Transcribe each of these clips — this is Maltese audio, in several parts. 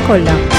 kollha.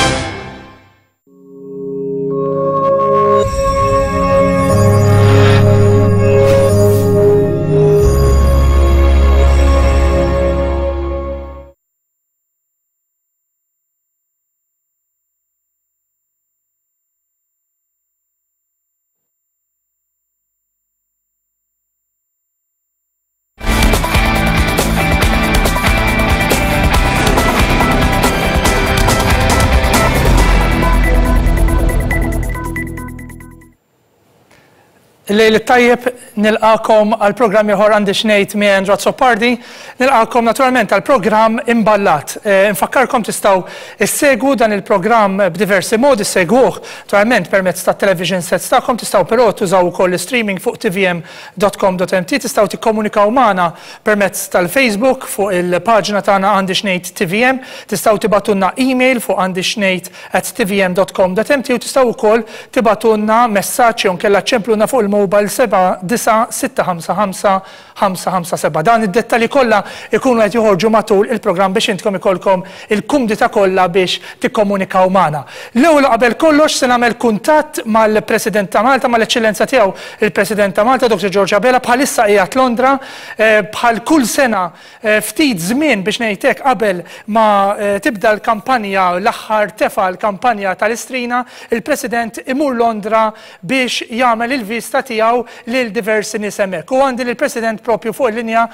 Lejl it-tajjeb nilqakom għal programm ieħor għandi xnejt mi Andrew Azzopardi. Nilqakom naturalment għal programm imballat. Eh, nfakkarkom tistgħu issegwu dan il-programm b'diversi modi, segwuh naturalment permezz ta' television sets tagħkom, tistgħu però tużaw ukoll streaming fuq tvm.com.mt, tistgħu tikkomunikaw magħna permezz tal-Facebook fuq il-paġna tagħna għandi xnejt TVM, tistgħu tibgħatulna email fuq għandi xnejt at tvm.com.mt u tistgħu wkoll tibgħatulna messaġġ jew nkella ċempluna fuq il-mobile 79655 557. Dan id-dettalji kollha ikunu qed joħorġu matul il-programm biex intkom ikollkom il-kumdità kollha biex tikkomunikaw magħna. L-ewwel u qabel kollox se nagħmel kuntatt mal-President ta' Malta, mal-Eċċellenza tiegħu il-President ta' Malta, Dr. George Abela, bħalissa qiegħed Londra, eh, bħal kull sena eh, ftit żmien biex ngħid hekk qabel ma eh, tibda l-kampanja l-aħħar tefa l-kampanja tal-Istrina, il-President imur Londra biex jagħmel il-vista tiegħu lil diversi nies hemmhekk. U għandi lill-President propju fuq il-linja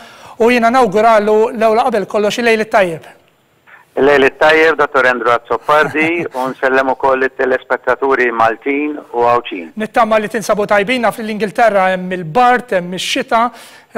u jiena nawguralu l-ewwel qabel kollox il-lejl it-tajjeb. Il-lejl it-tajjeb, Dottor Andrew Azzopardi, u nsellem ukoll it-telespettaturi Maltin u Għawdxin. Nittama li tinsabu tajbin, naf li l-Ingilterra hemm il-bard, hemm ix-xita,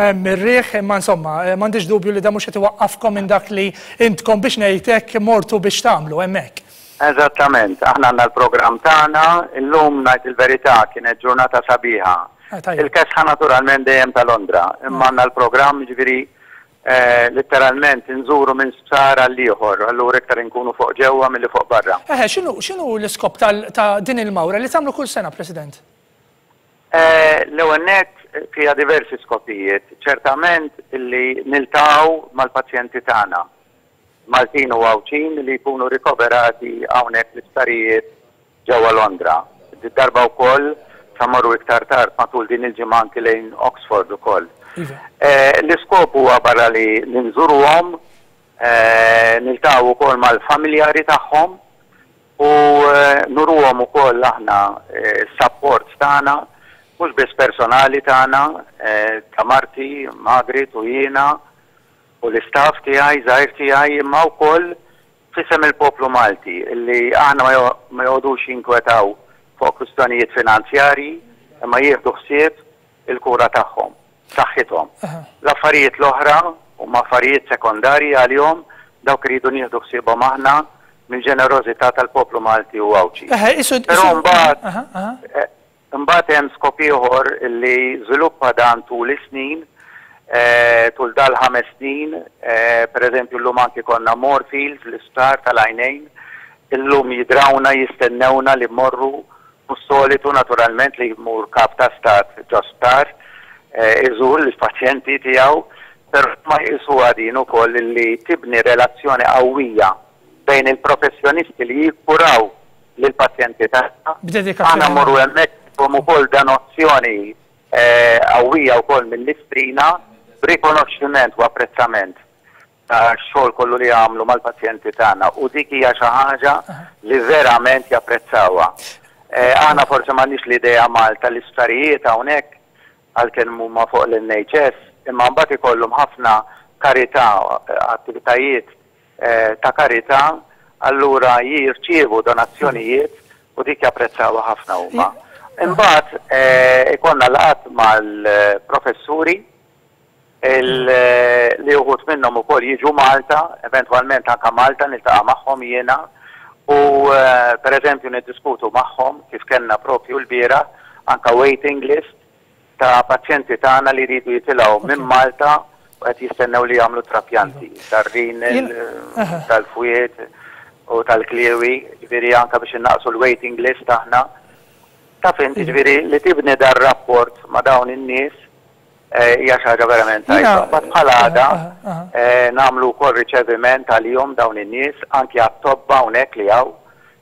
hemm ir-riħ, imma insomma, m'għandix dubju li dan mhux qed iwaqqafkom minn dak li intkom biex ngħid hekk mortu biex tagħmlu hemmhekk. Eżattament, aħna għandna l-programm tagħna, illum ngħid il-verità kienet ġurnata sabiħa. Ah, Il-kesħa naturalment dejjem ta' Londra, imma għandna l-programm ġifieri eh, letteralment nżuru minn sptar għal ieħor, allura iktar inkunu fuq ġewwa milli fuq barra. Eħe, x'inhu x'inhu l-iskop ta' din il-mawra li tagħmlu kull sena, President? Eh, l-ewwel nett fiha diversi skopijiet, ċertament illi niltaqgħu mal-pazjenti tagħna. Maltin u Għawdxin li jkunu rikoverati hawnhekk fl-isptarijiet ġewwa Londra. Did-darba wkoll sa mmorru iktar tard matul din il-ġimgħa anki lejn Oxford ukoll. Iva. L-iskop huwa barra li nżuruhom, niltaqgħu wkoll mal-familjari tagħhom u nuruhom ukoll aħna s-sapport tagħna, mhux biss personali tagħna, ta' marti, Margaret u jiena, u l-istaff tiegħi żgħir tiegħi imma wkoll f'isem il-poplu Malti li aħna ma joqogħdux jinkwetaw fuq kwistjonijiet finanzjarji imma jieħdu ħsieb il-kura tagħhom, saħħithom. L-affarijiet l-oħra huma affarijiet sekondarji għalihom, dawk iridu nieħdu ħsiebhom aħna mill-ġenerożità tal-poplu Malti u Għawdxi. Però mbagħad Imbagħad hemm skop ieħor li żviluppa dan tul is-snin, tul dal-ħames snin, pereżempju llum anki konna Moorfields, l-isptar tal-għajnejn, illum jidrawna jistennewna li mmorru, mhux solitu naturalment li jmur kap ta' stat ġo sptar iżur lill-pazjenti tiegħu, però huma jqisuha din ukoll li tibni relazzjoni qawwija bejn il-professjonisti li jikkuraw lill-pazjenti tagħna. Aħna mmorru hemmhekk nagħtuhom ukoll donazzjoni qawwija wkoll mill-Istrina b'rikonoxximent u apprezzament tax-xogħol kollu li jagħmlu mal-pazjenti tagħna u dik hija xi ħaġa li verament japprezzawha. Aħna forsi m'għandniex l-idea Malta l-isptarijiet hawnhekk għalkemm huma fuq l-NHS imma mbagħad ikollhom ħafna karità, attivitajiet ta' karità, allura jirċievu donazzjonijiet u dik japprezzawha ħafna huma. Imbagħad ikollna laqgħat mal-professuri li uħud minnhom ukoll jiġu Malta, eventwalment anke Malta niltaqa' magħhom jiena u pereżempju niddiskutu magħhom kif kellna propju lbieraħ anke waiting list ta' pazjenti tagħna li jridu jitilgħu minn Malta u qed jistennew li jagħmlu trapjanti tar-renal, tal-fwied u tal-kliewi, ġifieri anke biex innaqqsu l-waiting list aħna. Taf int, ġifieri li tibni dar-rapport ma' dawn in-nies. Hija xi ħaġa verament tajba. Mbagħad bħala għada nagħmlu wkoll riċeviment għalihom dawn in-nies, anki għat-tobba hawnhekk li hawn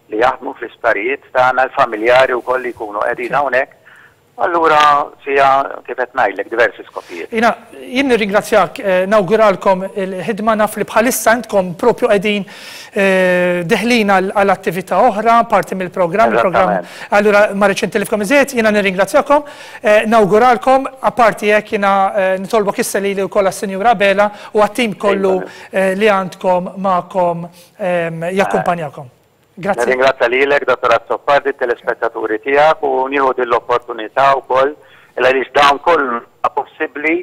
li jaħdmu fl-isptarijiet tagħna, l-familjari wkoll li jkunu qegħdin hawnhekk. Allura fiha kif qed ngħidlek diversi skopijiet. Jiena jien nirringrazzjak, nawguralkom il-ħidma naf li bħalissa intkom propju qegħdin deħlin għal attività oħra, parti mill-programm, il-programm. Allura ma rridx intilifkom iżjed, jiena nirringrazzjakom. Nawguralkom, apparti hekk jiena nitolbok issa lili wkoll għas-Sinjura Abela u għat-tim kollu li għandkom magħkom jakkumpanjakom. Grazzi. Nirringrazzja lilek, Dottor Azzopardi, t-telespettaturi tiegħek u nieħu din l-opportunità wkoll għaliex dawn kollu huwa possibbli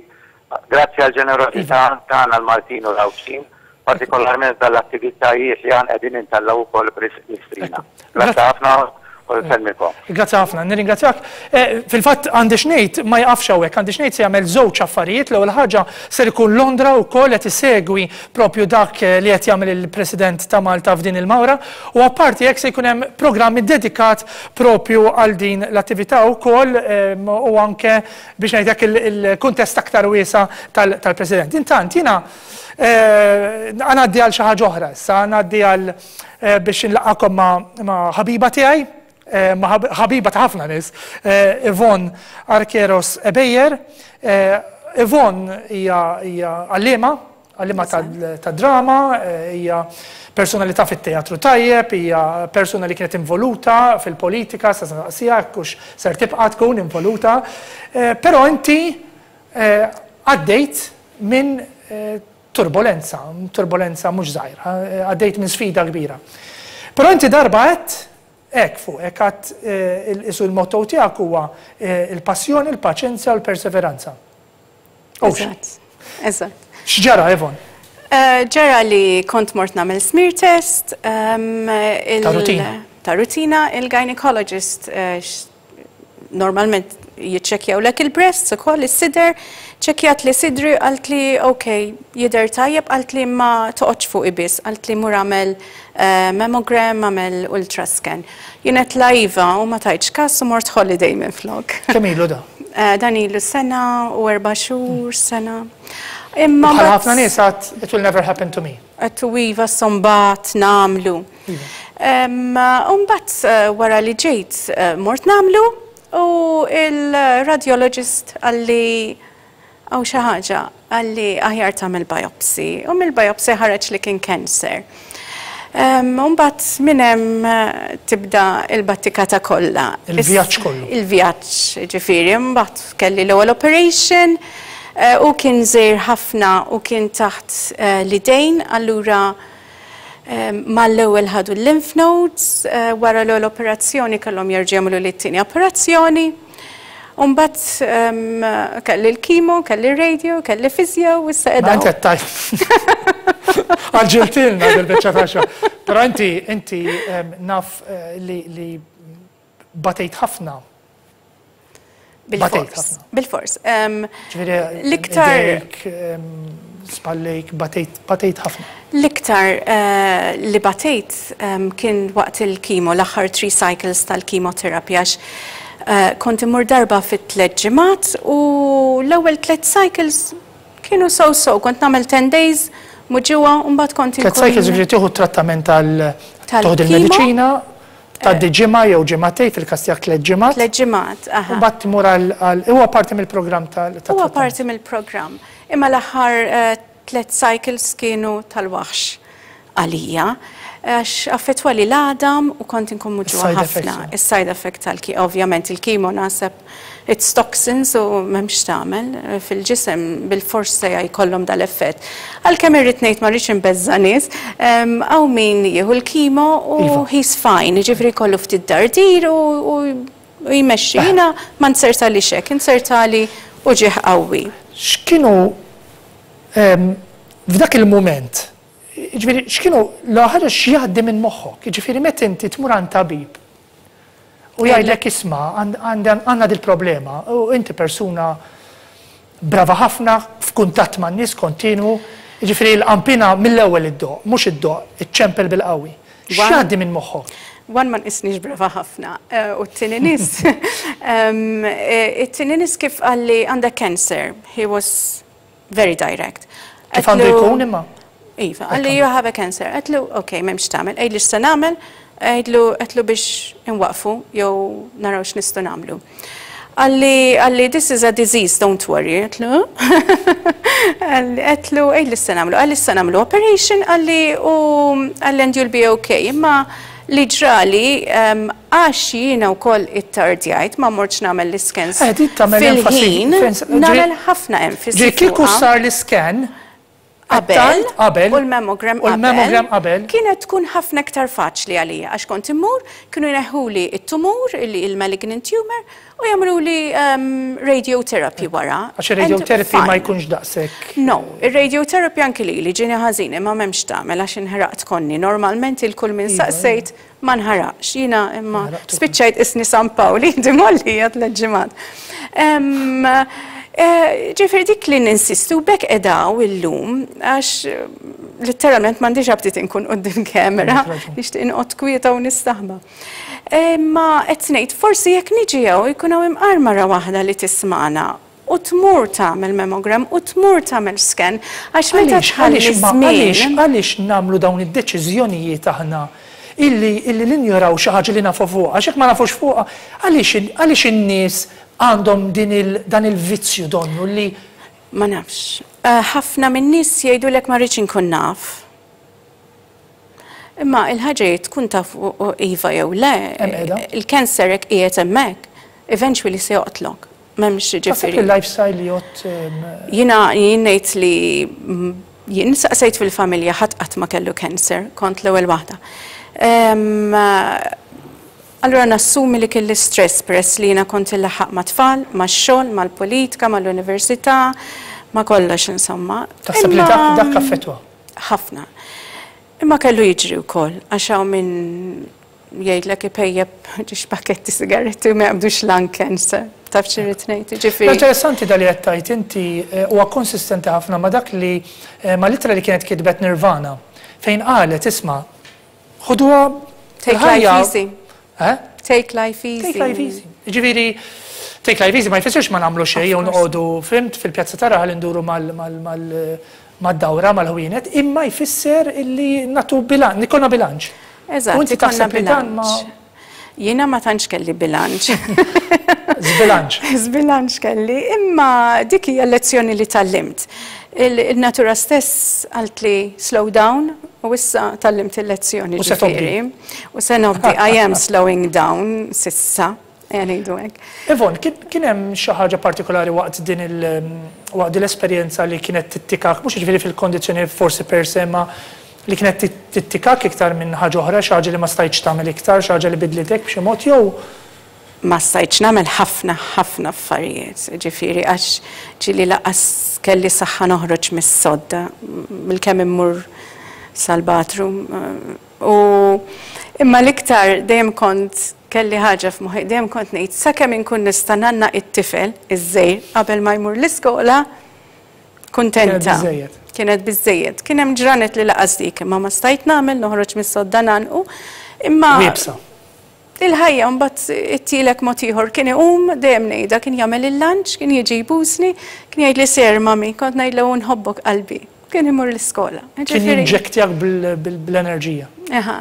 grazzi għall-ġenerożità tagħna l-Maltin u l-Għawdxin, partikolarment f'dan l-attivitajiet li aħna qegħdin intellgħu wkoll b'risq l-Istrina. Grazzi ħafna u nsellmikom. Grazzi ħafna, nirringrazzjak. Fil-fatt għandi x'ngħid ma jaqafx hawnhekk, għandi x'ngħid se jagħmel żewġ affarijiet. L-ewwel ħaġa ser ikun Londra wkoll qed isegwi propju dak li qed jagħmel il-President ta' Malta f'din il-mawra u apparti hekk se jkun hemm programm iddedikat propju għal din l-attività wkoll u anke biex ngħid hekk il-kuntest aktar wiesa' tal-President. Intant jiena ngħaddi għal xi ħaġa oħra issa, ngħaddi għal biex nlaqgħakom ma' ħabiba tiegħi, ma' ħabiba ta' ħafna nies, Yvonne Arqueros Ebejer. Yvonne hija għalliema, għalliema tad-drama, hija personalità fit-teatru tajjeb, hija persuna li kienet involuta fil-politika, sa nistaqsiha jekk hux ser tibqa' tkun involuta. Però inti għaddejt minn turbolenza, turbolenza mhux żgħira, għaddejt minn sfida kbira. Però inti darba għedt hekk fuqek, għedt isu l-motto tiegħek huwa il-passjoni, il-paċenzja u l-perseveranza. Eżatt, eżatt. X'ġara, Yvonne? Ġara li kont mort nagħmel smear test. Ta' rutina. Ta' rutina, il-gynecologist normalment jiċċekkjawlek il-breasts ukoll is-sider, ċekkjat li sidri qalt li ok, jidher tajjeb, qalt li ma toqgħodx fuqi biss, qalt li mur għamel mammogram, għamel ultrascan. Jien għedt iva u ma tajtx kas u mort holiday minn flok. Kemm ilu da? Dan ilu sena u 4 xhur, sena. Imma bħal ħafna nies għedt it will never happen to me. Għedt u iva mbagħad nagħmlu. Imbagħad wara li ġejt mort nagħmlu u il-radiologist qalli hawn xi ħaġa, qalli aħjar tagħmel biopsy. U mill-biopsy ħareġ li kien cancer. Imbagħad minn hemm tibda il-battikata kollha. Il-vjaġġ kollu. Il-vjaġġ, ġifieri, mbagħad kelli l-ewwel operation u kien żgħir ħafna u kien taħt l-idejn, allura mal-ewwel ħadu l-lymph nodes, wara l-ewwel operazzjoni kellhom jerġgħu jagħmlu li t-tieni operazzjoni. Imbagħad kelli l-chemo, kelli radio, kelli physio, u issa qiegħda. Inti qed tgħid. Għaġġiltilna bil-biċċa ta' xogħol. Però inti inti naf li batejt ħafna. Bil-fors. Bil-fors. L-iktar. Spallejk, batejt, batejt ħafna. L-iktar li batejt kien waqt il-chemo, l-aħħar 3 cycles tal-chemotherapy, għax kont immur darba fit 3 ġimgħat u l-ewwel 3 cycles kienu so-so, kont nagħmel 10 days muġugħa u mbagħad kont 3 cycles ġifieri tieħu trattament tal tieħu il-mediċina, tgħaddi ġimgħa jew ġimgħatej fil-każ tiegħek 3 ġimgħat. 3 ġimgħat, aha. U mbagħad tmur għal huwa parti mill-programm tal Huwa parti mill-programm. Imma l-aħħar 3 cycles kienu tal-waħx għalija, għax affettwali l-għadam u kont inkun muġugħa ħafna. Is-side effect tal-chemo, ovvjament il-chemo naħseb it's toxins u m'hemmx tagħmel fil-ġisem bil-fors se jkollhom dal-effett. Għalkemm irrid ngħid ma rridx inbeżża' nies, hawn min jieħu l-chemo u he's fine, jiġifieri jkollu ftit dardir u jmexxi. Jiena ma nsertalix hekk, insertali uġigħ qawwi. X'kienu f'dak il-mument, jiġifieri x'kienu l-ħaġa x'jgħaddi minn moħħok, jiġifieri meta inti tmur għand tabib u jgħidlek isma' għandna dil-problema u inti persuna brava ħafna f'kuntatt man-nies kontinwu, jiġifieri l-qampina mill-ewwel iddoqq, mhux iddoqq, iċċempel bil-qawwi. X'jgħaddi minn moħħok? One ma nqisnix brava ħafna u t-tieni nies it-tieni nies kif qalli għandek cancer, he was very direct. Kif għandu jkun imma? Iva, qalli you have a cancer. Għedtlu ok, m'hemmx x'tagħmel, għidli x'se nagħmel, għidlu għedtlu biex inwaqqfu jew naraw x'nistgħu nagħmlu. Qalli qalli this is a disease, don't worry. Għedtlu għedtlu għidli x'se nagħmlu. Qalli se nagħmlu operation, qalli u qalli and you'll be okay. Imma li ġrali għax jiena wkoll ittardjajt ma mortx nagħmel l-iscans eh, fil-ħin, nagħmel ħafna enfasi. Ġi kieku sar l-iscan qabel, qabel, u l-mammogram u l-mammogram qabel, kienet tkun ħafna iktar faċli għalija għax kont immur, kienu jneħħuli it-tumur, il-malignant tumor, u jagħmluli radiotherapy wara. Għax ir-radiotherapy ma jkunx daqshekk. No, ir-radiotherapy anki lili ġieni ħażin imma m'hemmx tagħmel għax inħraqt konni. Normalment il kull min iva, saqsejt ma nħaraqx. Jiena imma Nħaraqt ukoll. spiċċajt isni San Pawl, idi mollija tlet ġimgħat. Ġifieri dik li ninsistu b'hekk qiegħda hawn illum għax litteralment m'għandix aptit inkun quddiem kamera, nixtieq inqgħod kwieta u nistaħba. Imma qed ngħid forsi jekk niġi hawn jkun hawn imqar mara waħda li tismagħna u tmur tagħmel mammogram u tmur tagħmel scan għax meta tħalli żmien. Għaliex nagħmlu dawn id-deċiżjonijiet aħna illi illi ninjoraw xi ħaġa li nafu fuqha, għax jekk ma nafux fuqha, għaliex għaliex in-nies għandhom din il dan il-vizzju donnu li. Ma nafx. Ħafna min-nies jgħidulek ma rridx inkun naf. Imma il-ħaġa hi tkun taf iva jew le. Il-cancer hekk qiegħed hemmhekk, eventually se joqtlok. M'hemmx Taħseb ġifieri. li l-lifestyle jgħodd? Jiena jien ngħid li jien saqsejt fil-familja ħadd qatt ma kellu cancer, kont l-ewwel waħda. Allura nassumi li kelli stress peress li jiena kont inlaħħaq mat-tfal, max-xogħol, mal-politika, mal-università, ma' kollox insomma. Taħseb li dak dak affettwa? Ħafna. Imma kellu jiġri wkoll għax hawn min jgħidlek ipejjep ġiex pakketti sigaretti u ma jaqbdux lung cancer. Taf x'irrid ngħid, jiġifieri. Interessanti da li qed tgħid inti huwa konsistenti ħafna ma' dak li mal-ittra li kienet kitbet Nirvana fejn qalet isma' ħuduha Take life easy. Eh? Take life easy. Take life easy. Ġifieri, take life easy ma jfissirx ma nagħmlu xejn jew noqogħdu fimt fil-pjazza ta' raħal induru mad-dawra mal-ħwienet, imma jfisser illi nagħtu bilanċ, ikollna bilanċ. Eżatt, U inti ikollna taħseb li dan ma bilanċ. Jiena ma tantx kelli bilanċ. Żbilanċ. Żbilanċ kelli, imma dik hija lezzjoni li tgħallimt. Il-natura stess qaltli slow down u issa tgħallimt il-lezzjoni U se tobdi. ġifieri. U se nobdi, I am slowing down sissa, ejja ngħidu hekk. Yvonne, kien hemm xi ħaġa partikolari waqt din il waqt din l-esperjenza li kienet tittikak, mhux jiġifieri fil-kondizzjoni forsi per se, imma li kienet tittikak iktar minn ħaġa oħra, xi ħaġa li ma stajtx tagħmel iktar, xi ħaġa li bidlitek b'xi mod jew Ma stajtx nagħmel ħafna ħafna affarijiet, ġifieri għax ġieli lanqas kelli saħħa noħroġ mis-sodda, bilkemm immur sal-bathroom. U imma l-iktar dejjem kont kelli ħaġa f'moħħi, dejjem kont ngħid sakemm inkun nista' ngħannaq it-tifel iż-żgħir qabel ma jmur l-iskola, kuntenta. Kienet biżżejjed. Kienet biżżejjed. Kien hemm ġranet li laqas dik imma ma stajt nagħmel, noħroġ mis-sodda ngħannqu. Imma Iebsa. Il-ħajja mbagħad ittielek mod ieħor. Kien iqum, dejjem ngħidha, kien jagħmel il-lunch, kien jiġi jbusni, kien jgħidli ser mami, kont ngħidlu nħobbok qalbi. Kien imur l-iskola. Kien jinġektjak bl-enerġija. Eħa,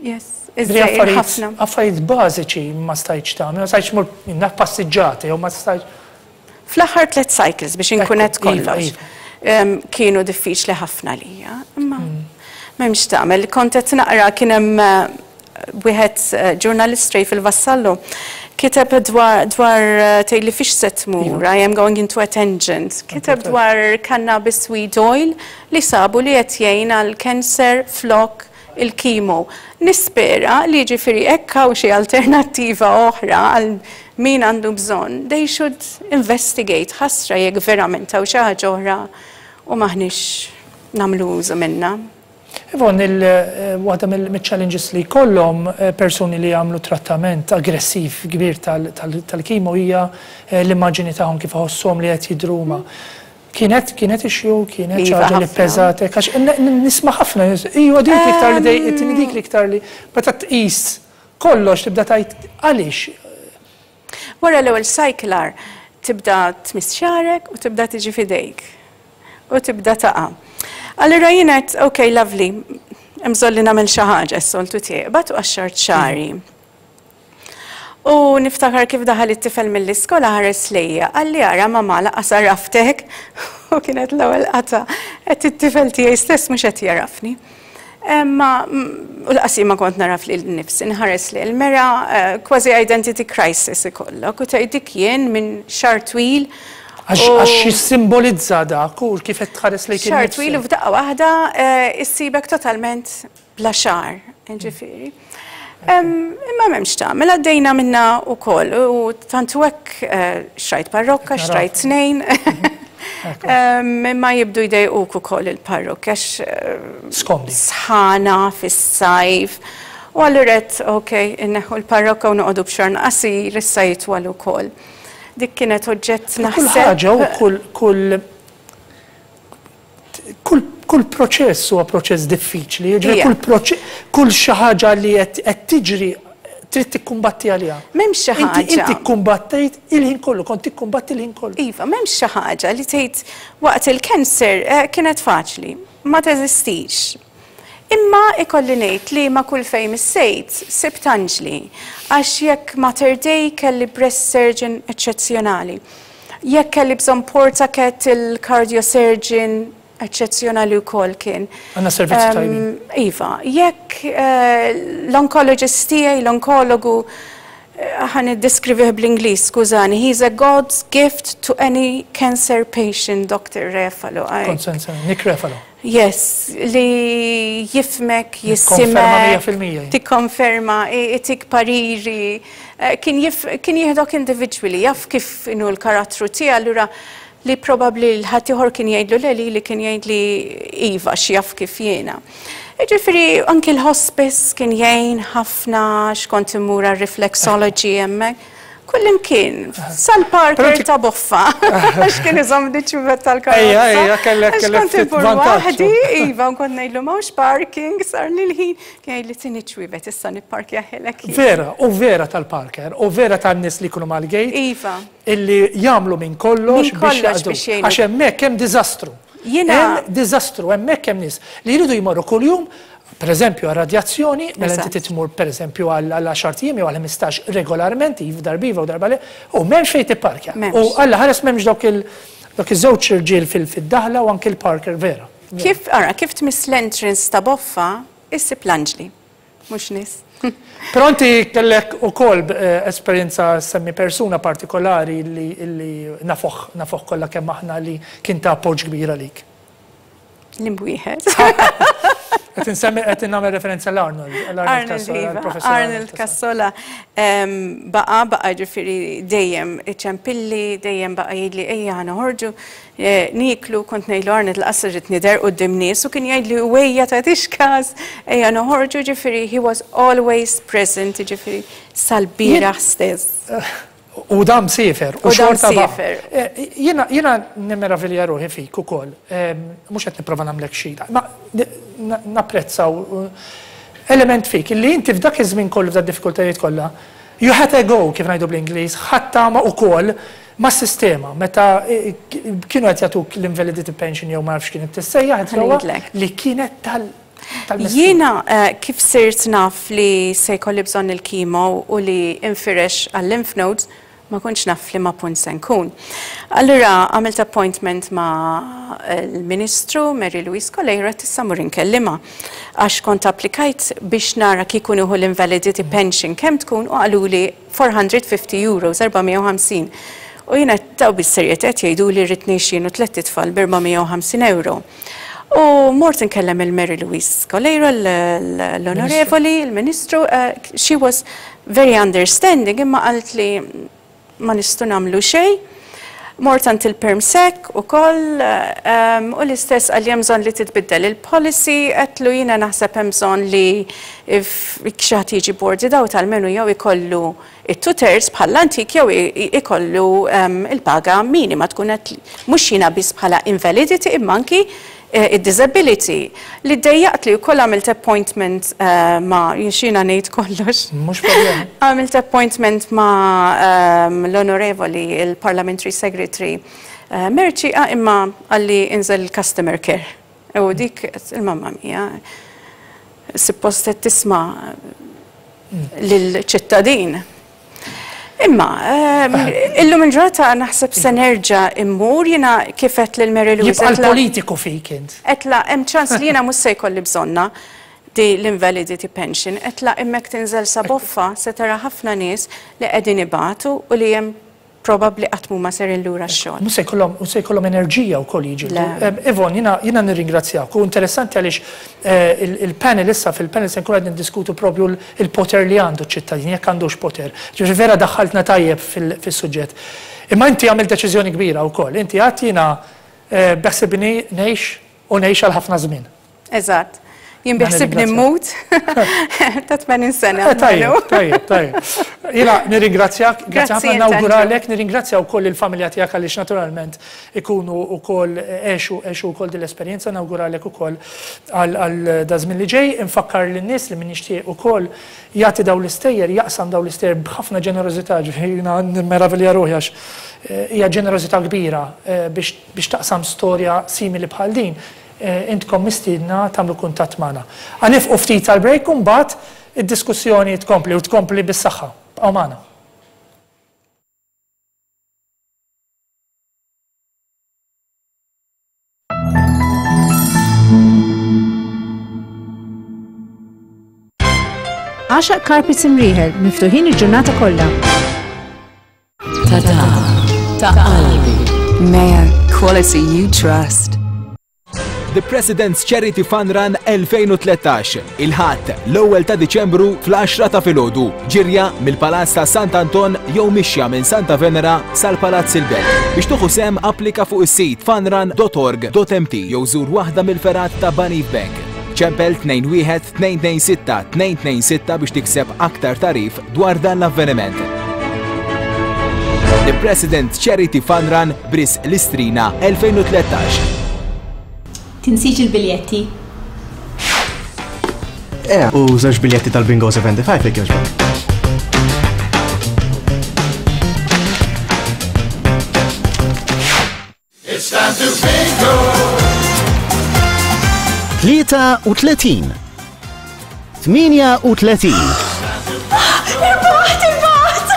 yes. Iż-żgħir ħafna. Affarijiet bażiċi ma stajtx tagħmel, ma stajtx tmur naf passiġġata jew ma stajtx. Fl-aħħar tlet cycles biex inkun qed Iva, kollox. Iva. Kienu diffiċli ħafna lija, imma m'hemmx tagħmel. Kont qed naqra kien hemm wieħed ġurnalist Ray fil-Vassallo kiteb dwar dwar tgħidli fiex se tmur, I am going into a tangent. Kiteb dwar cannabis weed oil li sabu li qed jgħin għal cancer flok il-chemo. Nispera li jiġifieri hekk hawn xi alternattiva oħra għal min għandu bżonn, they should investigate, ħasra jekk verament hawn xi ħaġa oħra u m'aħniex nagħmlu użu minnha. Yvonne, waħda mill-challenges li jkollhom persuni li jagħmlu trattament aggressiv kbir tal-chemo hija l-immaġini tagħhom kif iħossuhom li qed jidhru huma. Kienet kienet issue, kienet xi Iva, ħaġa li ħafna. peżatek, għax nisma' ħafna nies, iva dik l-iktar li dejqitni, dik l-iktar li meta tqis Kollox tibda tgħid għaliex. Wara l-ewwel cycle agħar tibda tmiss xagħrek u tibda tiġi f'idejk u tibda taqa'. Allura jien għedt ok lovely, hemm bżonn li nagħmel xi ħaġa s-soltu tiegħi. Qbadt u qaxxart xagħri. U niftakar kif daħal it-tifel mill-iskola ħares lejja, qalli ara mamà lanqas għaraftek u kienet l-ewwel qatgħa qed it-tifel tiegħi stess mhux qed jagħrafni. Ma u lanqas jien ma kont nagħraf lili nnifsi, nħares lejn il-mera, kważi identity crisis ikollok u tgħid dik jien minn xahar twil. Għax jissimbolizza dak u kif qed tħares lejk innifsek. Xahar twil u f'daqqa waħda issibek totalment bla xagħar, ġifieri. Imma m'hemmx tagħmel, għaddejna minna wkoll u tant hu hekk xtrajt parrokka, xtrajt tnejn. Imma jibdu jdejquk ukoll il-parrokki għax Skomdi. Sħana fis-sajf. U allura għedt ok, inneħħu l-parrokka u noqogħdu b'xagħar qasir, issa jitwal ukoll. Dik kienet oġġett naħseb. Kull ħaġa u kull kull Kull, kull proċess huwa proċess diffiċli, jiġifieri kull proċess, kull xi ħaġa li qed tiġri trid tikkumbatti għaliha. M'hemmx xi ħaġa. Inti kkumbattejt il-ħin kollu, kont tikkumbatti l-ħin kollu. Iva, m'hemmx xi ħaġa li tgħid waqt il-cancer kienet faċli. Ma teżistix. Imma ikolli ngħid li ma' kull fejn missejt sibt anġli. Għax jekk Mater Dei kelli breast surgeon eċċezzjonali. Jekk kelli bżonn portacat il-cardiosurgeon eċċezzjonali wkoll kien. Għandna servizzi tajbin. Iva, jekk l-oncologist tiegħi, l-onkologu, ħa niddeskrivih bl-Ingliż, skużani, he's a God's gift to any cancer patient, Doctor Refalo. Kont se nsemmi, Nick Refalo. Yes, li jifhmek, jisimek. Tikkonferma 100%. Tikkonferma, itik pariri. Kien kien jieħdok individwali, jaf kif inhu l-karattru tiegħi, allura li probabbli l-ħaddieħor kien jgħidlu le lili kien jgħidli iva għax jaf kif jiena. Jiġifieri anki l-hospice kien jgħin ħafna għax kont immur għar-reflexology hemmhekk. Kullimkien, sal-parker ta' boffa, għax kien iżommni ċ-ċuvet tal-karozza. Ejja, ejja, kellek kellek Għax kont immur waħdi, iva, u kont ngħidlu m'hawnx parking, sarli l-ħin. Kien jgħidli tini ċ-ċwievet issa nipparkjahielek jien. Vera, u vera tal-parker, u vera tan-nies li jkunu mal-gate. Iva. Illi jagħmlu minn kollox biex jaqdu. Għax hemmhekk hemm diżastru. Jiena. Hemm diżastru, hemmhekk hemm nies li jridu jmorru kuljum, pereżempju għar-radjazzjoni, mela inti trid tmur pereżempju għal għaxart ijiem jew għal 15 regolarment, iv darba iva u darba le, u m'hemmx fejn tipparkja. U Alla ħares m'hemmx dawk il dawk iż-żewġ irġiel fid-daħla u anki l-parker vera. Kif, ara, kif tmiss l-entrance ta' Boffa, issib l-anġli. Mhux nies. Però inti kellek ukoll esperjenza semmi persuna partikolari li nafuh, nafuh kollha kemm aħna li kien ta' appoġġ kbir għalik. L-imwieħed. Qed insemmi qed nagħmel referenza l Arnold, l Arnold iva, Arnold Cassola baqa' baqa' ġifieri dejjem iċempilli, dejjem baqa' jgħidli ejja ħa noħorġu. Nieklu, kont ngħidlu Arnold lanqas irrid nidher quddiem nies u kien jgħidli u ejja tagħtix każ, ejja noħorġu, jiġifieri he was always present, jiġifieri sal-bieraħ stess. U dan msiefer, u xorta baqa'. Jiena jiena nimmeravilja ruħi fik ukoll, mhux qed nipprova nagħmlek xi, ma napprezza element fik illi inti f'dak iż-żmien kollu f'dad-diffikultajiet kollha, you had a go kif ngħidu bl-Ingliż, ħadt tama ukoll Mas-sistema, meta kienu qed jagħtuk l-invalidity pension jew ma nafx kienet tissejjaħ Ħa ngħidlek. li kienet tal tal-missur. Jiena kif sirt naf li se jkolli bżonn il-chemo u li infirex għal-lymph nodes, ma kontx naf f'liema punt se nkun. Allura għamilt appointment ma' l-Ministru Mary Louise Coleiro għedt issa mmur inkellimha għax kont applikajt biex nara kieku nieħu l-invalidity pension kemm tkun u qaluli 450 euros, 450. U jiena taw bis-serjetà qed jgħiduli rrid ngħix jien u tlett itfal b'450 euro. U mort inkellem il-Mary Louise Coleiro, l-Onorevoli, il-Ministru, she was very understanding imma qaltli ma nistgħu nagħmlu xejn. Mort għand il-Perm Sec ukoll u l-istess qalli hemm bżonn li titbiddel il-policy, għedtlu jiena naħseb hemm bżonn li jekk xi ħadd jiġi boarded out almenu jew ikollu it-two thirds bħall-antik jew ikollu l-paga minima tkun qed mhux jiena biss bħala invalidity imma anki Id-disability li ddejjaqt li wkoll għamilt appointment ma' jien x'jiena ngħid kollox. Mhux problema. Għamilt appointment ma' l-Onorevoli il-Parliamentary Secretary Mercieca imma qalli inżel il-customer care. U dik il-mamma mia suppost qed tisma' lill-ċittadin. Imma, illum il-ġurnata naħseb se nerġa' immur jiena kif għedt lil Mary Louise. Jibqa' l-politiku fik int. Għedtla hemm ċans li jiena mhux se jkolli bżonnha di l-invalidity pension. Għedtla imma jekk tinżel sa boffa se tara ħafna nies li qegħdin ibatu u li hemm probabbli qatt m'huma serin lura x-xogħol. Mhux se jkollhom, mhux se jkollhom enerġija wkoll jiġġieldu. Yvonne, jiena, jiena nirringrazzjak u interessanti għaliex il-panel issa fil-panel se nkunu qed niddiskutu propju l-poter li għandu ċ-ċittadin, jekk għandux poter. Ġifieri vera daħħaltna tajjeb fis-suġġett. Imma inti għamilt deċiżjoni kbira wkoll. Inti għedt jiena beħsibni ngħix u ngħix għal ħafna żmien. Eżatt. Jien biħsibni mmut ta' 80 sena. Eh, tajjeb, tajjeb, tajjeb. Jiena nirringrazzjak, grazzi ħafna nawguralek, nirringrazzja wkoll il-familja tiegħek għaliex naturalment ikunu wkoll għexu għexu wkoll din l-esperjenza, nawguralek ukoll għal daż-żmien li ġej. Infakkar lin-nies li min jixtieq ukoll jagħti dawn l-istejjer, jaqsam dawn l-istejjer b'ħafna ġenerożità, ġifieri jiena nimmeravilja ruħi għax eh, hija ġenerożità kbira eh, biex taqsam storja simili bħal din. Intkom mistiedna tagħmlu kuntatt magħna. Ħa nifqu ftit għall-break u mbagħad id-diskussjoni tkompli u tkompli bis-saħħa. Bqgħu magħna. Għaxaq Carpets Imrieħel, miftuħin il-ġurnata kollha. Ta-ta, ta' qalbi. Mayo, quality you trust. The President's Charity Fun Run 2013, il-Ħadd, l-ewwel ta' Diċembru fl-10 ta' filgħodu, ġirja mill-Palazz ta' Sant Anton jew mixja minn Santa Venera sal-Palazz il-Belt. Biex tuħu sehem applika fuq is-sit funrun.org.mt jew żur waħda mill-fergħat ta' Banif Bank. Ċempel 21 226 226 biex tikseb aktar tagħrif dwar dan l-avveniment. The President Charity Fun Run b'risq l-Istrina 2013. Tinsiex il-biljetti. Eh, u żewġ biljetti tal-Bingo 75 jekk jogħġbok. It's time to bingo! 33 38 Irbaħt, irbaħt!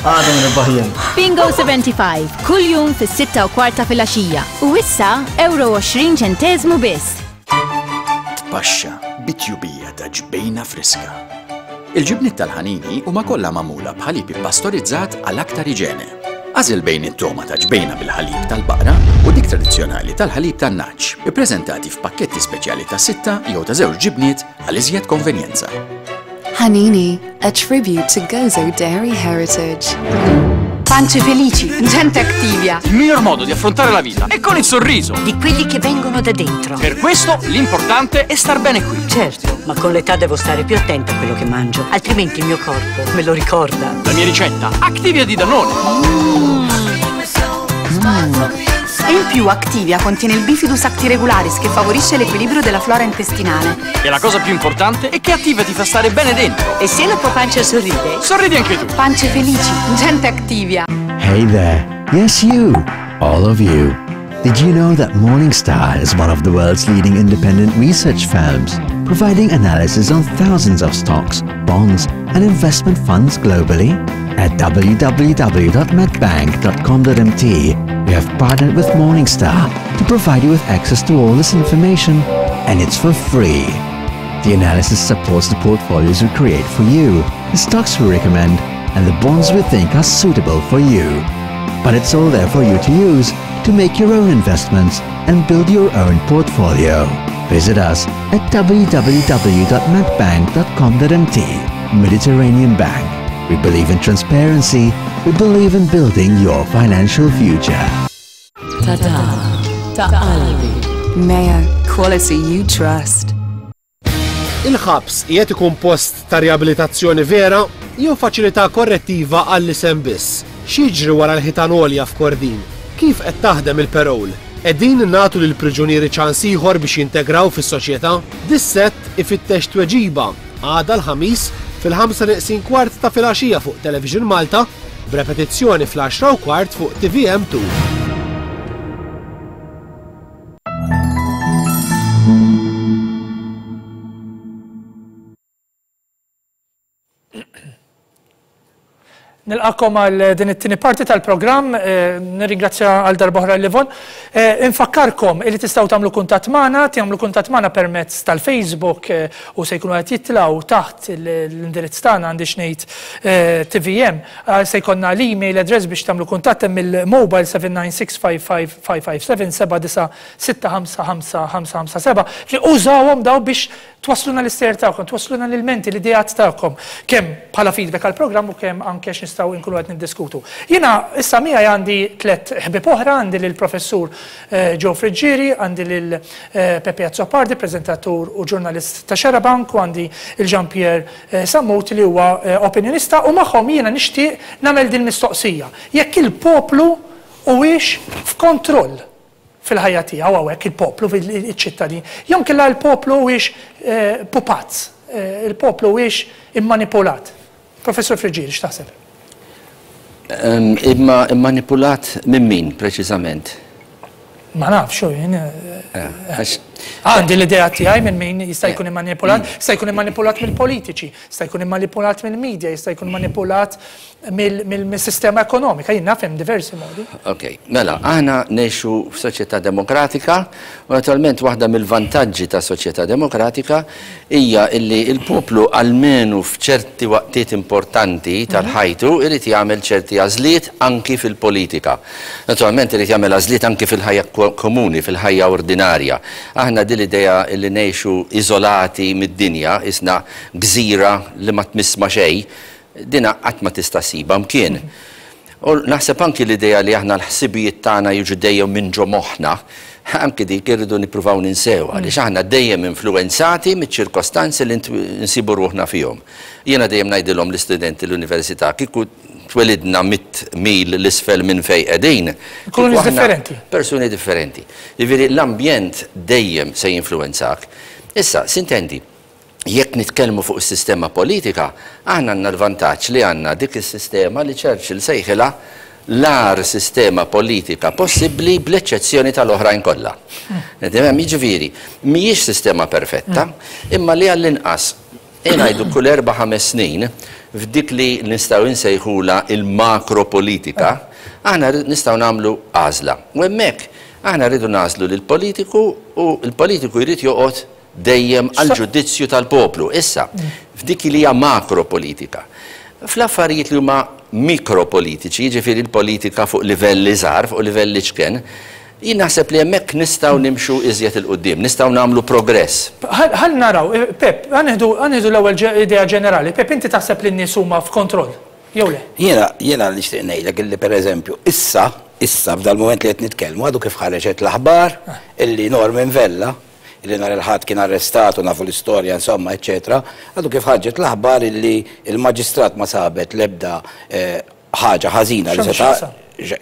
Għadhom nirbaħ jien. Bingo 75, kull jum fis-6 u kwarta filgħaxija. U issa, euro 20 ċenteżmu biss. Tpaxxa bit-tjubija ta' ġbejna friska. Il-ġibniet tal-ħanini huma kollha magħmula b'ħalib ippastorizzat għal aktar iġene. Agħżel bejn it-togħma ta' ġbejna bil-ħalib tal-baqra u dik tradizzjonali tal-ħalib tan-nagħaġ, ippreżentati f'pakketti speċjali ta' sitta jew ta' żewġ ġibniet għal iżjed konvenjenza. Hanini, a tribute to Gozo dairy heritage. Pance felici, gente Activia. Il miglior modo di affrontare la vita è con il sorriso. Di quelli che vengono da dentro. Per questo l'importante è star bene qui. Certo, ma con l'età devo stare più attenta a quello che mangio, altrimenti il mio corpo me lo ricorda. La mia ricetta, Activia di Danone. Mm. Mm. E in più Activia contiene il Bifidus actiregularis che favorisce l'equilibrio della flora intestinale. E la cosa più importante è che Activia ti fa stare bene dentro. E se la tua pancia sorride? Sorridi anche tu. Pance felici, gente Activia. Hey there. Yes you. All of you. Did you know that Morningstar is one of the world's leading independent research firms, providing analysis on thousands of stocks, bonds, and investment funds globally? At www.medbank.com.mt, we have partnered with Morningstar to provide you with access to all this information, and it's for free. The analysis supports the portfolios we create for you, the stocks we recommend, and the bonds we think are suitable for you. But it's all there for you to use to make your own investments and build your own portfolio. Visit us at www.medbank.com.mt. Mediterranean Bank. We believe in transparency. We believe in building your financial future. Ta-ta, ta' qalbi. Mayo, quality you trust. Il-ħabs qiegħed ikun post ta' riabilitazzjoni vera jew faċilità korrettiva għall-isem biss? X'jiġri wara l-ħitan għolja f'Kordin? Kif qed taħdem il-parole? Qegħdin nagħtu lill-priġunieri ċans ieħor biex jintegraw fis-soċjetà? Dissett ifittex tweġiba għada l-Ħamis fil-ħamsa neqsin kwart ta' filgħaxija fuq Television Malta, b'repetizzjoni fl-għaxra u kwart fuq tvm 2. Nilqakom għal din it-tieni parti tal-programm, eh, nirringrazzja għal darbohra l-Livon. Eh, infakkarkom li tistgħu tagħmlu kuntatt magħna, tagħmlu kuntatt magħna permezz tal-Facebook eh, u se jkunu qed jitlgħu taħt l-indirizz tagħna għandi ngħid TVM. Se jkollna l-email address biex tagħmlu kuntatt hemm il-mobile 7965557 79655 li użawhom daw biex Twasslulna l-istejjer tagħkom, twasslulna l-ilmenti, l-ideat tagħkom, kemm bħala feedback għall-programm u kemm anke x'nistgħu nkunu qed niddiskutu. Jiena issa miegħi għandi tlett ħbieb oħra, għandi lill-Professur Joe Friggieri, għandi lil Pepe Azzopardi, preżentatur u ġurnalist ta' Xarabank, u għandi il Jean Pierre Sammut li huwa opinjonista u magħhom jiena nixtieq nagħmel din mistoqsija. Jekk il-poplu huwiex f'kontroll fil-ħajja tiegħu hawnhekk il-poplu, iċ-ċittadin, jew inkella l-poplu huwiex pupazz, il-poplu huwiex immanipulat. Professur Friggieri, x'taħseb? Imma immanipulat minn min preċiżament? Ma nafx, u jien. Għandi l-idea tiegħi minn min jista' jkun immanipulat, jista' jkun immanipulat mill-politiċi, jista' jkun immanipulat mill-media, jista' jkun manipulat mill-sistema ekonomika, jien naf hemm diversi modi. Ok, mela, aħna ngħixu f'soċjetà demokratika u naturalment waħda mill-vantaġġi ta' soċjetà demokratika hija illi l-poplu almenu f'ċerti waqtiet importanti tal-ħajtu irid jagħmel ċerti għażliet anki fil-politika. Naturalment irid jagħmel għażliet anki fil-ħajja komuni, fil-ħajja ordinarja. Aħna din l-idea illi ngħixu iżolati mid-dinja, isna gżira li ma tmiss ma' xejn, Dina qatt ma tista' ssibha mkien. U naħseb anki l-idea li aħna l-ħsibijiet tagħna jiġu dejjem minn ġo moħħna, anki dik irridu nippruvaw ninsewha għaliex aħna dejjem influwenzati miċ-ċirkostanzi li nsibu ruħna fihom. Jiena dejjem ngħidilhom l-istudenti l-università, kieku twelidna mitt mil 'l isfel minn fejn qegħdin, Nkunu nies differenti. Persuni differenti. Jiġifieri l-ambjent dejjem se jinfluwenzak. Issa, sintendi, Jekk nitkellmu fuq is-sistema politika, aħna għandna l-vantaġġ li għandna dik is-sistema li Churchill sejħilha l-agħar sistema politika possibbli bl-eċċezzjoni tal-oħrajn kollha. Tifhem? Jiġifieri, mhijiex sistema perfetta, imma li għall-inqas, ejja ngħidu kull erba' ħames snin, f'dik li nistgħu nsejħulha il-makropolitika, aħna nistgħu nagħmlu għażla. U hemmhekk aħna rridu nagħżlu lill-politiku u l-politiku jrid joqgħod dejjem għall-ġudizzju tal-poplu. Issa, f'dik li hija makropolitika. Fl-affarijiet li huma mikropolitiċi, jiġifieri l-politika fuq livell iżgħar, fuq livell iċken, jien naħseb li hemmhekk nistgħu nimxu iżjed 'il quddiem, nistgħu nagħmlu progress. Ħalli naraw, Pep, ħa nieħdu ħa nieħdu l-ewwel idea ġenerali. Pep, inti taħseb li n-nies huma f'kontroll, jew le? Jiena, jiena nixtieq ngħidlek illi pereżempju issa, issa f'dal-mument li qed nitkellmu għadu kif ħareġet l-aħbar illi Norman Vella, li nhar il-Ħadd kien arrestat u nafu l-istorja insomma eċċetera, għadu kif ħarġet l-aħbar illi l-Maġistrat ma sabet l-ebda ħaġa ħażina li seta'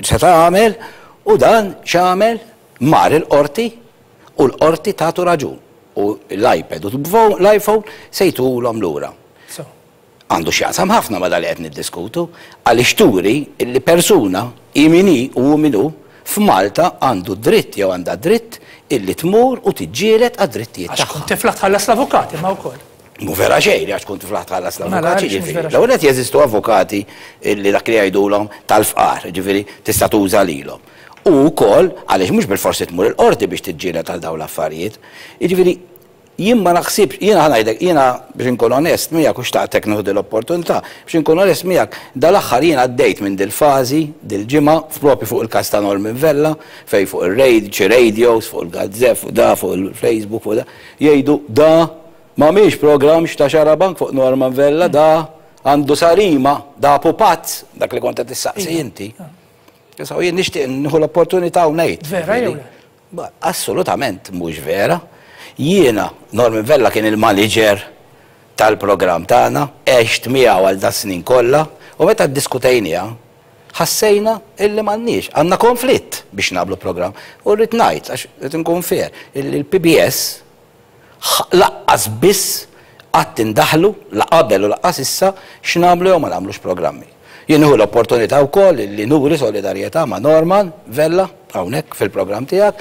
seta' għamel u dan x'għamel? Mar il-Qorti u l-Qorti tatu raġun u l-iPad u l-iPhone se jtuhulhom lura. Għandu x'jaqsam ħafna ma' dan li qed niddiskutu, għaliex turi li persuna, hi min hi u hu min hu, f'Malta għandu dritt jew għandha dritt illi tmur u tiġġieled għad-drittijiet Għax tagħha. tkun tiflaħ tħallas l-avukat imma wkoll. Mhu vera xejn li għax tkun tiflaħ tħallas Mela l-avukat, għaliex mhux x'jiġifieri? vera xejn? L-ewwel nett jeżistu avukati illi dak li jgħidulhom tal-fqar, jiġifieri tista' tuża lilhom. U wkoll għaliex mhux bilfors tmur il-qorti biex tiġġieled għal dawn l-affarijiet. Jiġifieri Jien ma naħsibx, jiena ħa ngħidlek, jiena biex inkun onest miegħek u xtaqtek nieħu din l-opportunità, biex inkun onest miegħek, dal-aħħar jiena għaddejt minn dil-fażi, dil-ġimgħa, proprju fuq il-każ ta' Norman Vella, fejn fuq ir-radio, xi radios, fuq il-gazzett, fuq da, fuq il-Facebook, fuq da, jgħidu da m'għamilx programm x'ta' Xarabank fuq Norman Vella, da għandu sarima, da pupazz, dak li kont qed issaqsi inti. Issa u jien nixtieq nieħu l-opportunità u ngħid. Vera jew le? Assolutament mhux vera. Jiena, Norman Vella kien il-maniġer tal-programm tagħna, għext miegħu għal das-snin kollha u meta ddiskutejniha, Ħassejna illi m'għandniex, għandna konflitt biex nagħmlu programm. U rrid ngħid, għax rrid inkun fair, illi l-PBS laqqas biss qatt indaħlu, la qabel u laqqas issa, x'nagħmlu jew ma nagħmlux programmi. Jien nieħu l-opportunità wkoll illi nuri solidarjetà ma' Norman Vella hawnhekk fil-programm tiegħek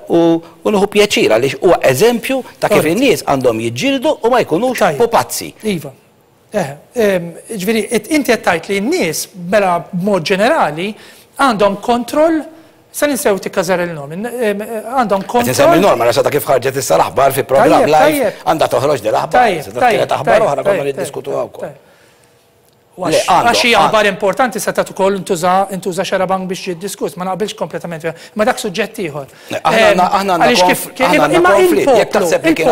u nieħu pjaċir għaliex huwa eżempju ta' kif in-nies għandhom jiġġieldu u ma jkunux pupazzi. Iva. Ġifieri, inti qed tgħid li n-nies mela b'mod ġenerali għandhom kontroll se ninsew tikkażar il-nom, għandhom kontroll. Qed insemmi Norman għax għadha kif ħarġet issa l-aħbar fi programm live għandha toħroġ din l-aħbar. Kienet aħbar oħra konna niddiskutuha wkoll. Għax hija aħbar importanti setgħet ukoll intuża xarabank biex ġiet diskuss, ma naqbilx kompletament, ma dak suġġett ieħor. Aħna għandna konflitt. Jekk taħseb li kien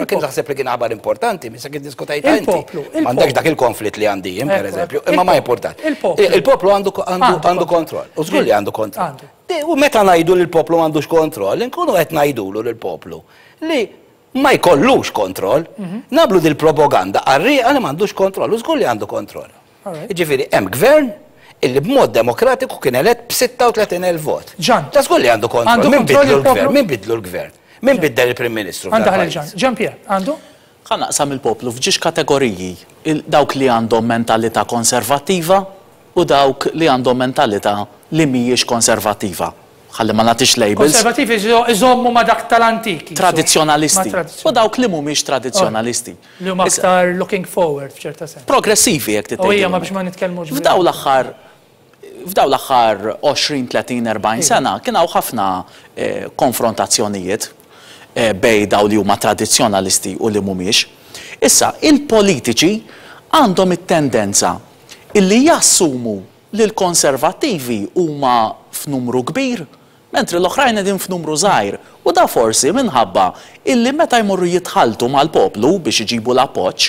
kien taħseb li kien aħbar importanti, misa kien diskutajt inti. M'għandekx dak il-konflitt li għandi jien, pereżempju, imma ma importanti. Il-poplu għandu kontroll. U żgur li għandu kontroll. U meta ngħidu li l-poplu m'għandux kontroll, inkunu qed ngħidulu lill-poplu li ma jkollux kontroll, nagħmlu dil-propaganda qarrieqa li m'għandux kontroll, u żgur li għandu kontroll. Jiġifieri hemm gvern illi b'mod demokratiku kien elett b'36,000 vot. Ġan. Ta' żgur li għandu kontroll. Min bidlu l-gvern? Min bidlu l-gvern? Min biddel il-Prim Ministru? Għandu ħalli Ġan. Ġan Pier, għandu? Ħa naqsam il-poplu f'ġiex kategoriji, dawk li għandhom mentalità konservattiva u dawk li għandhom mentalità li mhijiex konservattiva. Ħalli ma nagħtix labels. Konservattivi iżommu ma' dak tal-antiki. Tradizzjonalisti. U dawk li mhumiex tradizzjonalisti. Li huma aktar looking forward f'ċerta sens. Progressivi jekk trid tgħid. U hija ma biex ma nitkellmux. F'dawn l-aħħar f'dawn l-aħħar 20, 30, 40 sena kien hawn ħafna konfrontazzjonijiet bejn dawn li huma tradizzjonalisti u li mhumiex. Issa, il-politiċi għandhom it-tendenza illi jassumu li l-Konservattivi huma f'numru kbir, mentri l-oħrajn qegħdin f'numru żgħir, u da forsi minħabba illi meta jmorru jitħalltu mal-poplu biex iġibu l-appoġġ,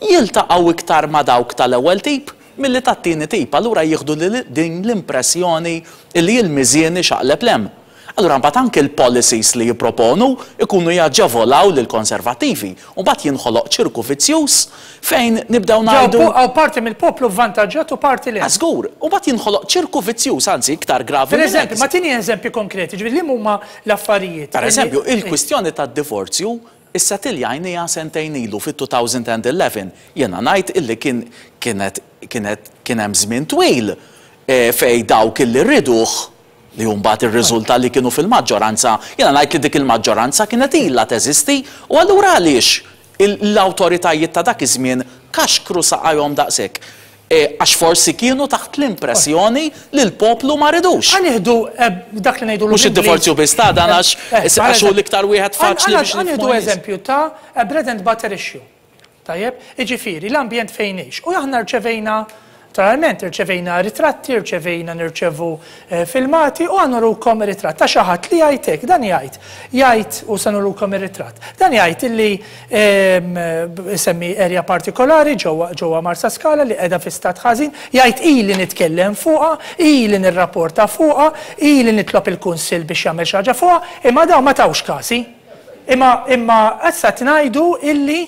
jiltaqgħu iktar ma' dawk tal-ewwel tip milli tat-tieni tip, allura jieħdu din l-impressjoni illi l-miżien ixaqleb 'l hemm. Allura mbagħad anki l-policies li jipproponu jkunu jaġevolaw lill-Konservattivi u mbagħad jinħoloq ċirku vizzjuż fejn nibdew ngħidu. Hawn parti mill-poplu vvantaġġjat u parti le. Żgur, u mbagħad jinħoloq ċirku vizzjuż, anzi iktar gravi minn hekk. Pereżempju, ma tini eżempji konkreti, ġifieri liema huma l-affarijiet. Pereżempju, il-kwistjoni tad-divorzju issetilljajniha sentejn ilu fit-2011. Jiena ngħid illi kien kienet kienet kien hemm żmien twil fejn dawk illi rieduh li hu mbagħad irriżulta li kienu fil-maġġoranza, jiena ngħid li dik il-maġġoranza kienet ilha teżisti u allura għaliex l-awtoritajiet ta' dak iż-żmien kaxkru saqajhom daqshekk? Għax forsi kienu taħt l-impressjoni li l-poplu ma ridux. Ħa nieħdu dak li ngħidulu Mhux id-divorzju biss ta' dan għax għax hu l-iktar wieħed faċli biex Ħa nieħdu eżempju ta' a bread and butter issue. Tajjeb? Jiġifieri, l-ambjent fejn ngħix. U aħna rċevejna, naturalment, irċevejna ritratti, irċevejna nirċevu filmati u ħa nurukom ritratt ta' xi ħadd li jgħid hekk, dan jgħid, jgħid, u se nurukom ir-ritratt, dan jgħid illi isemmi area partikolari ġewwa ġewwa Marsaskala li qiegħda fi stat ħażin, jgħid ili nitkellem fuqha, ili nirrapporta fuqha, ili nitlob il-Kunsill biex jagħmel xi ħaġa fuqha, imma dawn ma tawx kasi. Imma, imma issa qed ngħidu illi.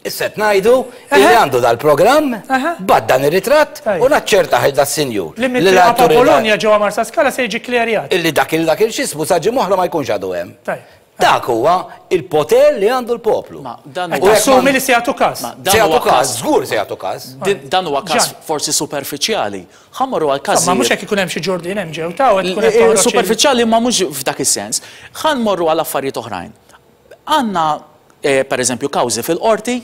Issa qed ngħidu illi għandu dal-programm, bagħat dan ir-ritratt u naċċertah il das-sinjur. Li mit-triqa ta' Bologna ġewwa Marsaskala se jiġi kklerjat. Illi dak il dak il-x'ismu sa ġimgħa oħra ma jkunx għadu hemm. Tajjeb. Dak huwa il-poter li għandu l-poplu. Ma dan huwa. Qed tassumi li se jagħtu każ. Se jagħtu każ, żgur se jagħtu każ. Dan huwa każ forsi superfiċjali. Ħa mmorru għal każijiet. Insomma, mhux hekk ikun hemm xi ġurdien hemm ġew ta' u qed tkun qed toħroġ. Superfiċjali imma mhux f'dak is-sens. Ħa nmorru għal affarijiet oħrajn. Għandna pereżempju kawżi fil-qorti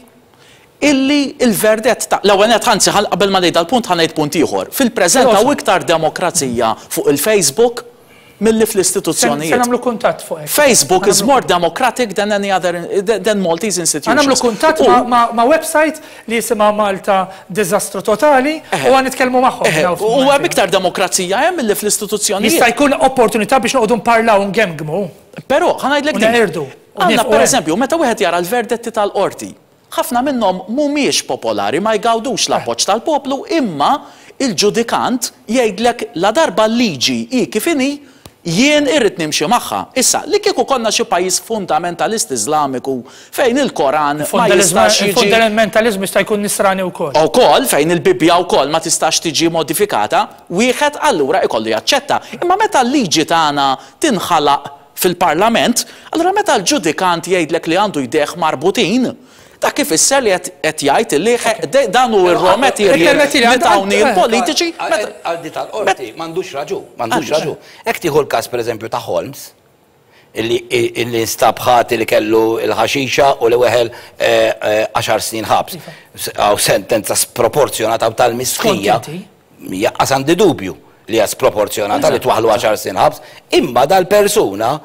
illi l-verdett ta' l-ewwel nett anzi qabel ma ngħid dal-punt ħa ngħid punt ieħor. Fil-preżent hawn iktar demokrazija fuq il-Facebook milli fl-istituzzjonijiet. Se nagħmlu kuntatt fuq hekk. Facebook is more democratic than any other than Maltese institutions. Ħa nagħmlu kuntatt ma' website li jisimha Malta Diżastru Totali u ħa nitkellmu magħhom. U hemm iktar demokrazija hemm milli fl-istituzzjonijiet. Jista' jkun opportunità biex noqogħdu nparlaw u ngemgmu. Però, ħa ngħidlek din. U neqirdu. Għandna pereżempju, meta wieħed jara l-verdetti tal-qorti, Ħafna minnhom mhumiex popolari, ma jgawdux l-appoġġ tal-poplu, imma il-ġudikant jgħidlek ladarba l-liġi hi kif inhi, Jien irrid nimxi magħha. Issa, li kieku konna xi pajjiż fundamentalist Iżlamiku fejn il-Koran ma jistax jiġi. Il-fundamentaliżmu jista' jkun Nisrani wkoll. Ukoll, fejn il-Bibbja wkoll ma tistax tiġi modifikata, wieħed allura ikollu jaċċetta. Imma meta l-liġi tagħna tinħalaq fil-Parlament, allura meta l-ġudikant jgħidlek li għandu jdejh marbutin, Dak ifisser li qed jgħid li dan hu r-raw material li tawni l-politiċi. Għal di tal-qorti m'għandux raġun, m'għandux raġun. Hekk tieħu l-każ pereżempju ta' Holmes, illi nstab ħati li kellu l-ħaxixa u li weħel għaxar snin ħabs. Hawn sentenza sproporzjonata u tal-mistħija. Jaqqas għandi dubju li hija sproporzjonata li twaħħlu għaxar snin ħabs, imma dal-persuna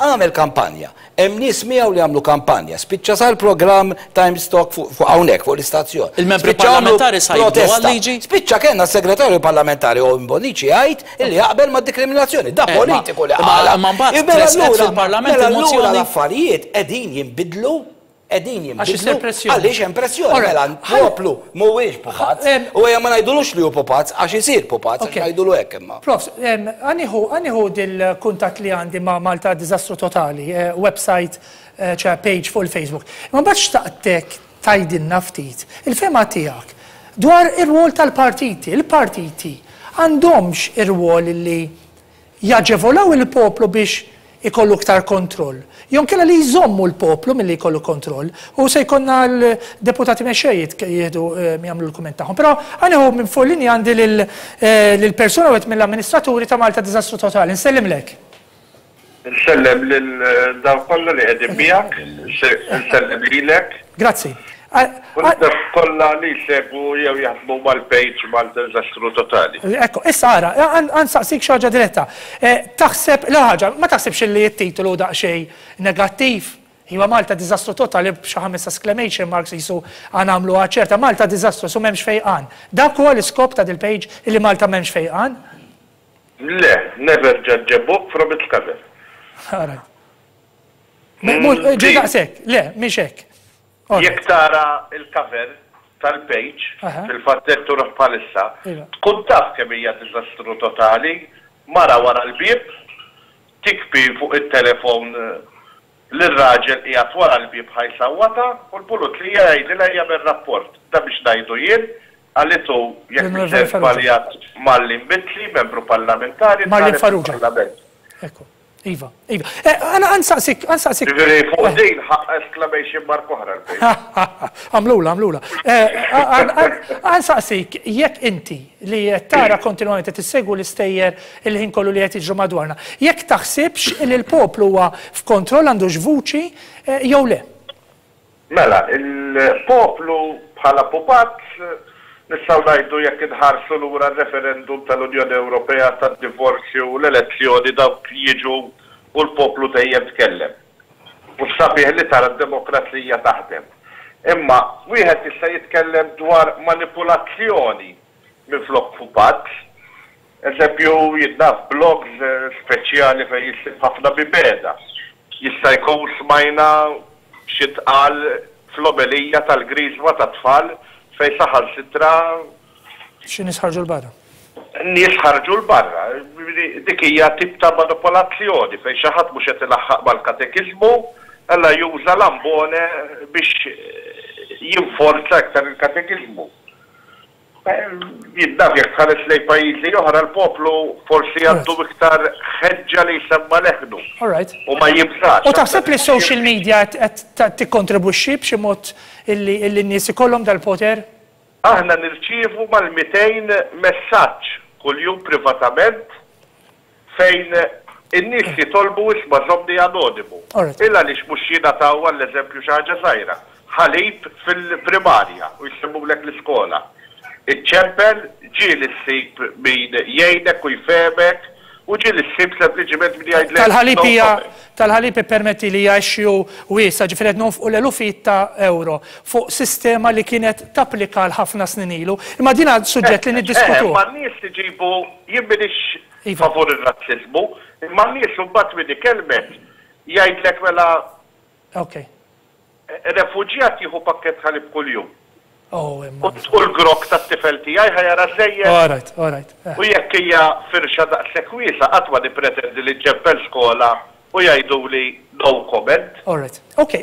għamel kampanja. Hemm nies miegħu li għamlu kampanja. Spiċċa sar programm Times Talk fuq hawnhekk fuq l-istazzjon. Il-membri parlamentari sa jibdew għal-liġi? Spiċċa kellna s-segretarju parlamentari Owen Bonnici jgħid illi jaqbel mad-dikriminazzjoni. Da politiku li qala. Ma mbagħad tressqet fil-Parlament il-mozzjoni. L-affarijiet qegħdin jinbidlu Qegħdin jinbidlu għaliex hemm pressjoni. Mela l-poplu mhuwiex pupazz. U ejja ma ngħidulux li hu pupazz għax isir pupazz għax ngħidulu hekk imma. Profs, ħa nieħu ħa nieħu dil-kuntatt li għandi ma' Malta Diżastru Totali, website, ċe page fuq il-Facebook. Imma mbagħad xtaqtek tgħidilna ftit il-fehma tiegħek dwar ir-rwol tal-partiti. Il-partiti għandhomx ir-rwol li jaġevolaw il-poplu biex ikollu iktar kontroll, jew inkella li jżommu l-poplu milli jkollu kontroll, u se jkollna l-deputati mexxej jieħdu jagħmlu l-kumment tagħhom. Però ħa nieħu minn fuq linja għandi lil persuna wieħed mill-amministraturi ta' Malta Diżastru Totali. Nsellimlek. Nsellem lil dawk kollha li qegħdin miegħek, nsellem lilek. Grazzi. U lil dawk kollha li jsegwu jew jaħdmu mal-page Malta Diżastru Totali. Ekku, issa ara, ħa nsaqsik xi ħaġa diretta. Taħseb, l-ewwel ħaġa, ma taħsibx li t-titolu hu daqsxejn negattiv? Iva Malta Diżastru Totali b'xi ħames exclamation marks qisu ħa nagħmluha ċerta, Malta Diżastru, qisu m'hemmx fejqan. Dak huwa l-iskop ta' dil-page illi Malta m'hemmx fejqan? Le, never judge a book from its cover. All right. Ġi daqshekk, le, mhix hekk. Jekk tara l-cover tal-page, fil-fatt qed turuh bħalissa, iva. tkun taf kemm hija diżastru totali, mara wara l-bieb, tikbi fuq it-telefon lir-raġel qiegħed wara l-bieb ħa jsawwatha u l-pulizija jgħidilha jagħmel rapport. Dan biex ngħidu jien, qalitu, jekk mhux sejjer żbaljat, Marlene Mizzi, membru parlamentari, Marlene Farrugia. Fil-Parlament. Ekku. Iva, iva. Għana għansaqsik, għansaqsik. Ġifieri fuq din ħaqq exclamation mark oħra l-page. Għamlula, għamlula. Għansaqsik, jekk inti li qed tara kontinwament qed issegwu l-istejjer il-ħin kollu li qed jiġru madwarna, jekk taħsibx li l-poplu huwa f'kontroll għandux vuċi jew le. Mela, il-poplu bħala pupazz, nistgħu ngħidu jekk inħarsu lura r-referendum tal-Unjoni Ewropea, tad-divorzju, l-elezzjoni dawk jiġu u l-poplu dejjem tkellem. U s-sabiħ li tara d-demokrazija taħdem. Imma wieħed jista' jitkellem dwar manipulazzjoni minflok pupazz. Eżempju, jien naf blogs speċjali fejn issib ħafna mibegħda. Jista' jkun smajna xi ntqal fl-omelija tal-Griżma tat-tfal fejn saħansitra. Xi nies ħarġu 'l barra. Nies ħarġu 'l barra. Dik hija tip ta' manipolazzjoni fejn xi ħadd mhux qed ilaħħaq mal-katekiżmu, allura juża l-ambone biex jinforza iktar il-katekiżmu. Jien naf jekk tħares lejn pajjiżi oħra l-poplu forsi għandu iktar ħeġġa li jsemma' leħnu u ma jibżax. U taħseb li s-social media qed tikkontribwixxi b'xi mod illi n-nies ikollhom dal-poter? Aħna nirċievu mal-200 messaġġ kuljum privatament fejn in-nies jitolbu isma' żommni anonimu. Il għaliex mhux jingħataw għall-eżempju xi ħaġa żgħira, ħalib fil-primarja u jsemmulek l-iskola. Iċċempel, ġieli ssib min jgħinek u jfehmek u ġieli ssib sempliċiment min jgħidlek Tal-ħalib hija tal-ħalib ippermettili hija issue wiesgħa, ġifieri qed nonfqu l-elufijiet ta' ewro fuq sistema li kienet tapplika għal ħafna snin ilu. Imma din suġġett li niddiskutuh. Imma n-nies iġibu, jien m'iniex favur ir-razziżmu, imma n-nies imbagħad min ikellmek jgħidlek mela refuġjat jieħu pakkett ħalib kuljum. Oh, imma. U l-grokk tat-tifel tiegħi ħa jara żejjed? All right, all right. Eh. U jekk hija firxa daqshekk wiesgħa qatt ma nippretendi li nċempel skola u jgħiduli no comment. All right. Ok,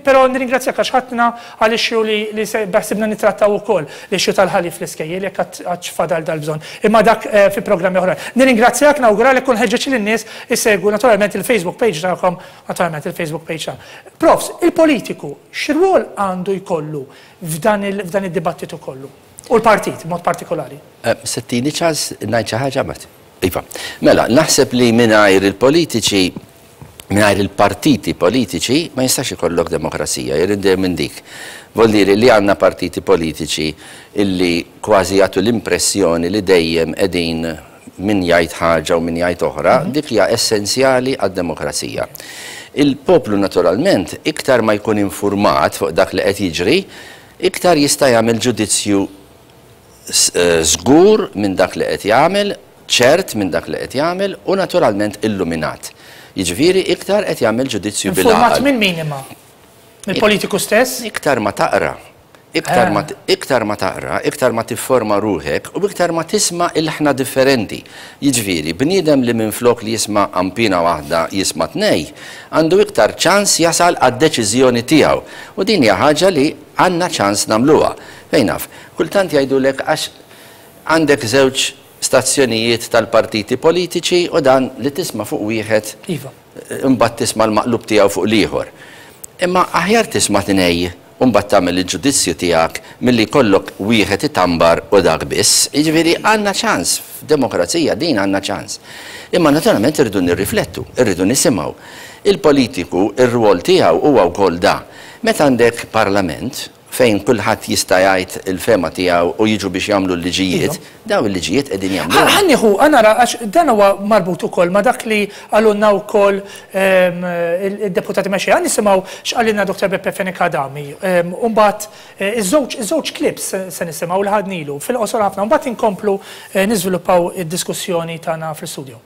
però nirringrazzjak għax ħadtna għal issue li li se beħsibna nittrattaw ukoll, l-issue tal-ħalib fl-iskejjel jekk għadx fadal dal-bżonn. Imma dak eh, fi programmi oħrajn. Nirringrazzjak, nawguralek u nħeġġeġ lin-nies isegwu naturalment il-Facebook page tagħkom, naturalment il-Facebook page tagħna. Profs, il-politiku x'rwol għandu jkollu f'dan id-dibattitu kollu? U l-partit, b'mod partikolari. Eh, se ttini ċans ngħid xi ħaġa Matt? Iva. Mela, naħseb li mingħajr il-politiċi, mingħajr il-partiti politiċi ma jistax ikollok demokrazija, jien dejjem minn dik. Vuol dire li għandna partiti politiċi illi kważi jagħtu l-impressjoni li dejjem qegħdin min jgħid ħaġa u min jgħid oħra, dik hija essenzjali għad-demokrazija. Il-poplu naturalment iktar ma jkun infurmat fuq dak li qed jiġri, iktar jista' jagħmel ġudizzju żgur minn dak li qed jagħmel, ċert minn dak li qed jagħmel u naturalment illuminat. Jiġifieri iktar qed jagħmel ġudizzju bil-għaqal. Infurmat minn min imma? Mill-politiku stess? Iktar ma taqra, iktar ma iktar ma taqra, iktar ma tifforma ruħek u iktar ma tisma' ilħna differenti. Jiġifieri, bniedem li minflok li jisma' qanpiena waħda jisma' tnej, għandu iktar ċans jasal għad-deċiżjoni tiegħu. U din hija ħaġa li għandna ċans nagħmluha. Fejn naf, kultant jgħidulek għax għandek żewġ stazzjonijiet tal-partiti politiċi u dan li tisma' fuq wieħed imbagħad tisma' l-maqlub tiegħu fuq l-ieħor. Imma aħjar tisma' tnej u mbagħad tagħmel il-ġudizzju tiegħek milli jkollok wieħed itambar u dak biss. Jiġifieri għandna ċans, f'demokrazija din għandna ċans. Imma naturalment irridu nirriflettu, irridu nisimgħu. Il-politiku, ir-rwol tiegħu huwa wkoll da. Meta għandek parlament, fejn kulħadd jista' jgħid il-fehma tiegħu u jiġu biex jagħmlu l-liġijiet, dawn il-liġijiet qegħdin jagħmluhom. Ħa nieħu, ħa nara għax dan huwa marbut ukoll ma' dak li qalulna wkoll id-deputati mexxejja. Ħa nisimgħu x'qalilna Dottor Beppe Fenech Adami u mbagħad iż-żewġ iż-żewġ clips se nisimgħu li ħadnilu fil-qosor ħafna u mbagħad inkomplu niżviluppaw id-diskussjoni tagħna fl-istudio.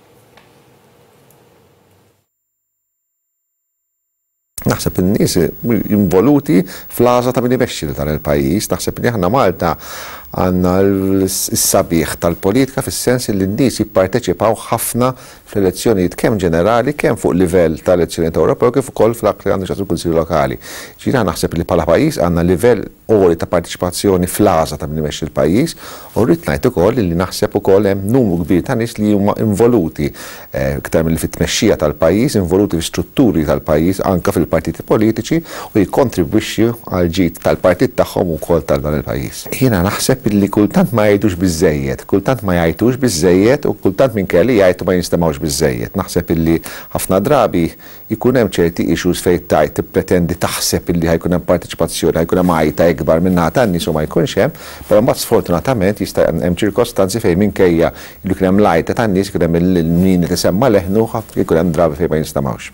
Naħseb in-nies involuti fl-għażla ta' min imexxi lil dan il-pajjiż. Naħseb li aħna Malta għandna s-sabiħ tal-politika fis-sens li n-nies jipparteċipaw ħafna fl-elezzjonijiet kemm ġenerali, kemm fuq livell ta' elezzjonijiet Ewropew kif ukoll f'dak li għandu x'jaqsam il-Kunsilli Lokali. Ġifieri aħna naħseb li bħala pajjiż għandna livell għoli ta' parteċipazzjoni fl-għażla ta' min imexxi l-pajjiż u rrid ngħid ukoll li naħseb ukoll hemm numru kbir ta' nies li huma involuti iktar milli fit-tmexxija tal-pajjiż, involuti fi strutturi tal-pajjiż anke fil-partiti politiċi u jikkontribwixxu għall-ġid tal-partit tagħhom u wkoll tal dan il-pajjiż. Jiena naħseb illi kultant ma jgħidux biżżejjed, kultant ma jgħajtux biżżejjed u kultant minkejja li jgħajtu ma jinstemgħux biżżejjed. Naħseb illi ħafna drabi Jkun hemm ċerti issues fejn tgħid tippretendi taħseb illi ħa jkun hemm parteċipazzjoni, ħa jkun hemm għajta ikbar min-naħa tan-nies u ma jkunx hemm, però mbagħad sfortunatament jista' hemm ċirkostanzi fejn minkejja li jkun hemm l-għajta tan-nies, ikun hemm min qed isemma' leħnu, jkun hemm drabi fejn ma jinstemgħux.